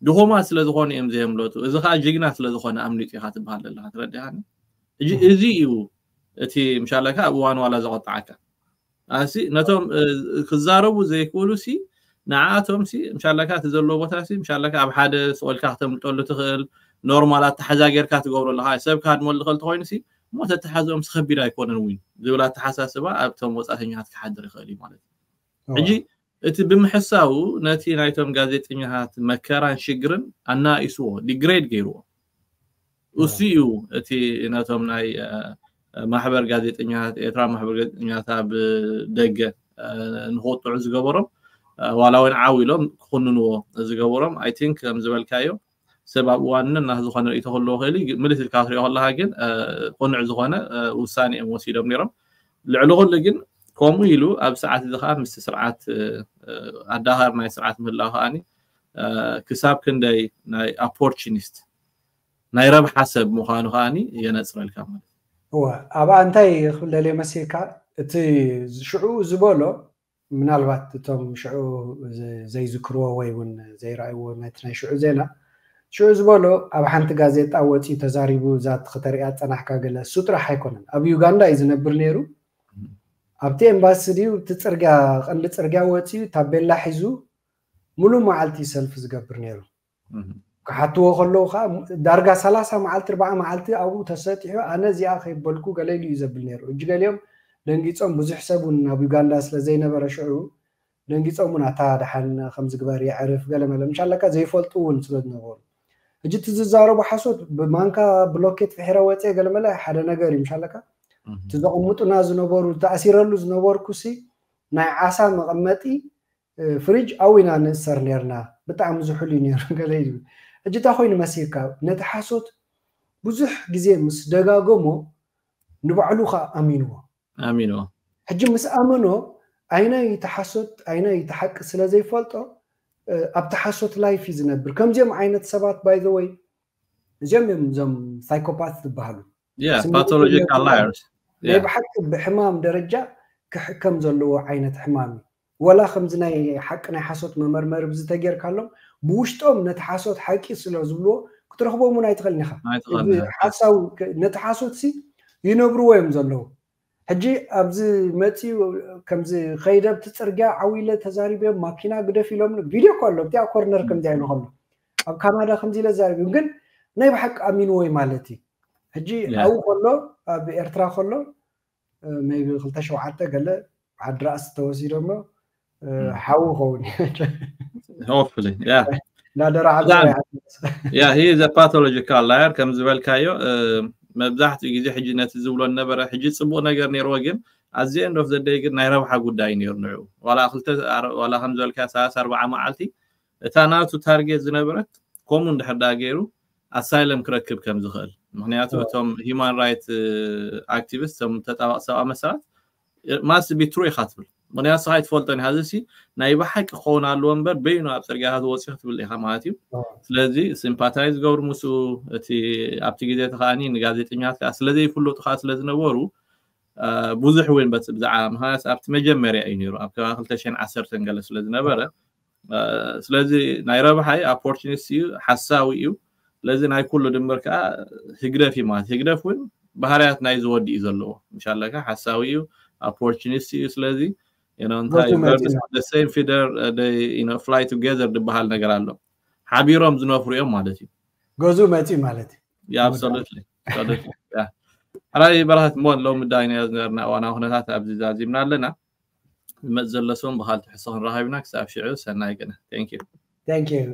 ድኹማት ስለ ዝኾኑ እዮም ዘየምለጡ። እዚ ከዓ ጅግና ስለ ዝኾነ ኣምሊጡ ኢኻ ትበሃል ዘለኻ ትረዲኻኒ። እዚ እዩ እቲ ምሻለካ ኣብ እዋን ዋላ ዘቆጣዓካ ኣሲ ነቶም ክዛረቡ ዘይክእሉ ሲ ንዓኣቶም ሲ ምሻለካ እቲ ዘለዎ ቦታ ሲ ምሻለካ ኣብ ሓደ ስቆልካ ክተምልጠሉ ትኽእል ኖርማል ኣተሓዛ ጌርካ ትገብሮ ኣለካ። ሰብ ክሃድመሉ ክእል ተኮይኑ ሲ እሞ ተተሓዝኦም ሲ ከቢድ ኣይኮነን እውን ዝብል ኣተሓሳስባ ኣብቶም ወፃተኛታት ክሓድር ይኽእል እዩ ማለት እዩ። ሕጂ እቲ ብምሕሳቡ ነቲ ናይቶም ጋዜጠኛታት መከራን ሽግርን ኣናኢስዎ ዲግሬድ ገይርዎ። እሱ እዩ እቲ ነቶም ናይ ማሕበር ጋዜጠኛታት ኤርትራ ማሕበር ጋዜጠኛታት ኣብ ደገ ንክወጥዑ ዝገበሮም ዋላ እውን ዓው ኢሎም ክኩንንዎ ዝገበሮም። I think ከም ዝበልካዮ ሰብ ኣብ እዋንና ዝኾነ ርእይቶ ክህልዎ ክእል ምልስ ኢልካ ክትሪኦ ከለካ ግን ቁኑዕ ዝኾነ ውሳኔ እዮም ወሲዶም ነይሮም። ልዕሊ ኩሉ ግን ከምኡ ኢሉ ኣብ ሰዓት እዚ ከዓ ምስ ስርዓት ኣዳኻር ናይ ስርዓት ምህላው ከዓኒ ክሳብ ክንደይ ናይ ኦፖርቹኒስት ናይ ረብሓ ሰብ ምዃኑ ከዓኒ የነፅረልካ ማለት እዩ። እወ ኣብኣ እንታይ ክብል ደልየ መሲልካ እቲ ሽዑ ዝበሎ ምናልባት እቶም ሽዑ ዘይዝክርዎ ወይ እውን ዘይረኣይዎ ነቲ ናይ ሽዑ ዜና ሽዑ ዝበሎ ኣብ ሓንቲ ጋዜጣ ወፂኡ ተዛሪቡ እዛ ከተሪኣ ፀናሕካ ገለ እሱ ጥራሕ ኣይኮነን ኣብ ዩጋንዳ እዩ ዝነብር ነይሩ ኣብቲ ኤምባሲ ድዩ እቲ ፅርግያ ቀንዲ ፅርግያ ወፂኡ ታቤላ ሒዙ ሙሉእ መዓልቲ ሰልፊ ዝገብር ነይሩ ክሓትዎ ከለዉ ከዓ ዳርጋ ሰላሳ መዓልቲ ርባዓ መዓልቲ ኣብኡ ተሰጢሑ ኣነ እዚኣ ከይበልኩ ገለ ኢሉ እዩ ዘብል ነይሩ እጂ ገሊኦም ደንጊፆም ብዙሕ ሰብ እውን ኣብ ዩጋንዳ ስለ ዘይነበረ ሽዑ ደንጊፆም እውን ኣታ ደሓን ከም ዝግበር የዕርፍ ገለ መለ ምሻለካ ዘይፈልጡ እውን ስለ ዝነበሩ እጂ እቲ ዝዛረቡ ሓሶት ብማንካ ብሎኬት ፍሒረ ወፅየ ገለ መለ ሓደ ነገር እዩ ምሻለካ እቲ ዘቐምጡና ዝነበሩ ተኣሲረሉ ዝነበርኩ ሲ ናይ ዓሳ መቐመጢ ፍሪጅ ኣብኡ ኢና ንእሰር ነርና ብጣዕሚ ዝሑል እዩ ነይሩ ገለ ይብል ሕጂ እንታይ ኮይኑ መሲልካ ነቲ ሓሶት ብዙሕ ግዜ ምስ ደጋገሞ ንባዕሉ ከዓ ኣሚንዎ ኣሚንዎ ሕጂ ምስ ኣመኖ ኣይናይ ተሓሶት ኣይናይ ተሓቂ ስለ ዘይፈልጦ ኣብቲ ሓሶት ላይፍ እዩ ዝነብር ከምዚኦም ዓይነት ሰባት ባይዘወይ እዚኦም እዮም እዞም ሳይኮፓት ዝበሃሉ Yeah, pathological liars. ናይ ብሓቂ ብሕማም ደረጃ ክሕከም ዘለዎ ዓይነት ሕማም እዩ ወላ ከምዚ ናይ ሓቂ ናይ ሓሶት መመርመሪ ብዝተጌርካሎም ብውሽጦም ነቲ ሓሶት ሓቂ ስለ ዝብልዎ ክትረኽቦም እውን ኣይትኽእልን ኢኻ ሓሳዊ ነቲ ሓሶት ሲ ይነብርዎ እዮም ዘለዉ ሕጂ ኣብዚ መፅኡ ከምዚ ከይደ ኣብቲ ፅርግያ ዓው ኢለ ተዛሪበ ማኪና ግደፍ ኢሎም ቪድዮ እኮ ኣሎ ኣብቲኣ ኮርነር ከምዚ ኢሉ ከሎ ኣብ ካናዳ ከምዚ ኢለ ተዛሪቡ ግን ናይ ብሓቂ ኣሚንዎ እዩ ማለት እዩ ሕጂ ኣብኡ ከሎ ኣብ ኤርትራ ከሎ maybe ክልተ ሸውዓተ ገለ ዓዲ ራእሲ ተወሲዶሞ ሓዊ ኸውን hopefully yeah እንዳደራዓዘ yeah he is a pathological liar ከም ዝበልካዮ መብዛሕትኡ ግዜ ሕጂ ነቲ ዝብሎ ነበረ ሕጂ ፅቡቅ ነገር ነይርዎ ግን at the end of the day ግን ናይ ረብሓ ጉዳይ ነይሩ ንዑ ዋላ ክልተ ዋላ ከም ዝበልካ ሰላሳ ኣርባዓ መዓልቲ እታ ናቱ ታርጌት ዝነበረት ከምኡ እንድሕር ዳ ገይሩ ኣሳይለም ክረክብ ከም ዝኽእል ምክንያቱ እቶም human right activist ቶም ተጣባቂ ሰብኣዊ መሰላት must be true ኢኻ ትብል ምክንያቱ ስኻ ኣይትፈልጦን ኢኻ። እዚ ሲ ናይ ብሓቂ ክኸውን ኣለዎ እምበር በይኑ ኣብ ፅርግያታት ወፂኡ ክትብል ኢኻ ማለት እዩ። ስለዚ ሲምፓታይዝ ገብሩ ምስኡ፣ እቲ ኣብቲ ግዜ እቲ ከዓኒ ንጋዜጠኛታት ከዓ ስለዘይፍለጡ ከዓ ስለዝነበሩ ብዙሕ እውን በቲ ብዛዕባ ምክንያት ኣብቲ መጀመርያ እዩ ነይሩ ኣብ ከባቢ ክልተ ሽሕን ዓሰርተን ገለ ስለዝነበረ ስለዚ ናይ ረብሓይ ኦፖርቹኒስት እዩ፣ ሓሳዊ እዩ። ስለዚ ናይ ኩሉ ድምር ከዓ ህግደፍ እዩ ማለት ህግደፍ እውን ባህርያት ናይ ዝወዲ እዩ ዘለዎ ምሻለካ ሓሳዊ እዩ፣ ኦፖርቹኒስት እዩ። ስለዚ እንታይ same feather fly together ዝበሃል ነገር ኣሎ። ሓቢሮም ዝነፍሩ እዮም ማለት እዩ። ገዙ መፂ ማለት እዩ። Yeah, absolutely. Absolutely. Yeah. ሕራይ በረኸት እሞ ሎሚ ዳይና ዝነበርና እዋናዊ ኩነታት ኣብዚ ዛዚምና ኣለና። ዝመፅ ዘሎ ሰውን ብካል ትሕሶ ክንረኸብ ኢና። ክሳብ ሽዑ ሰናይ ቅነ። Thank you. Thank you.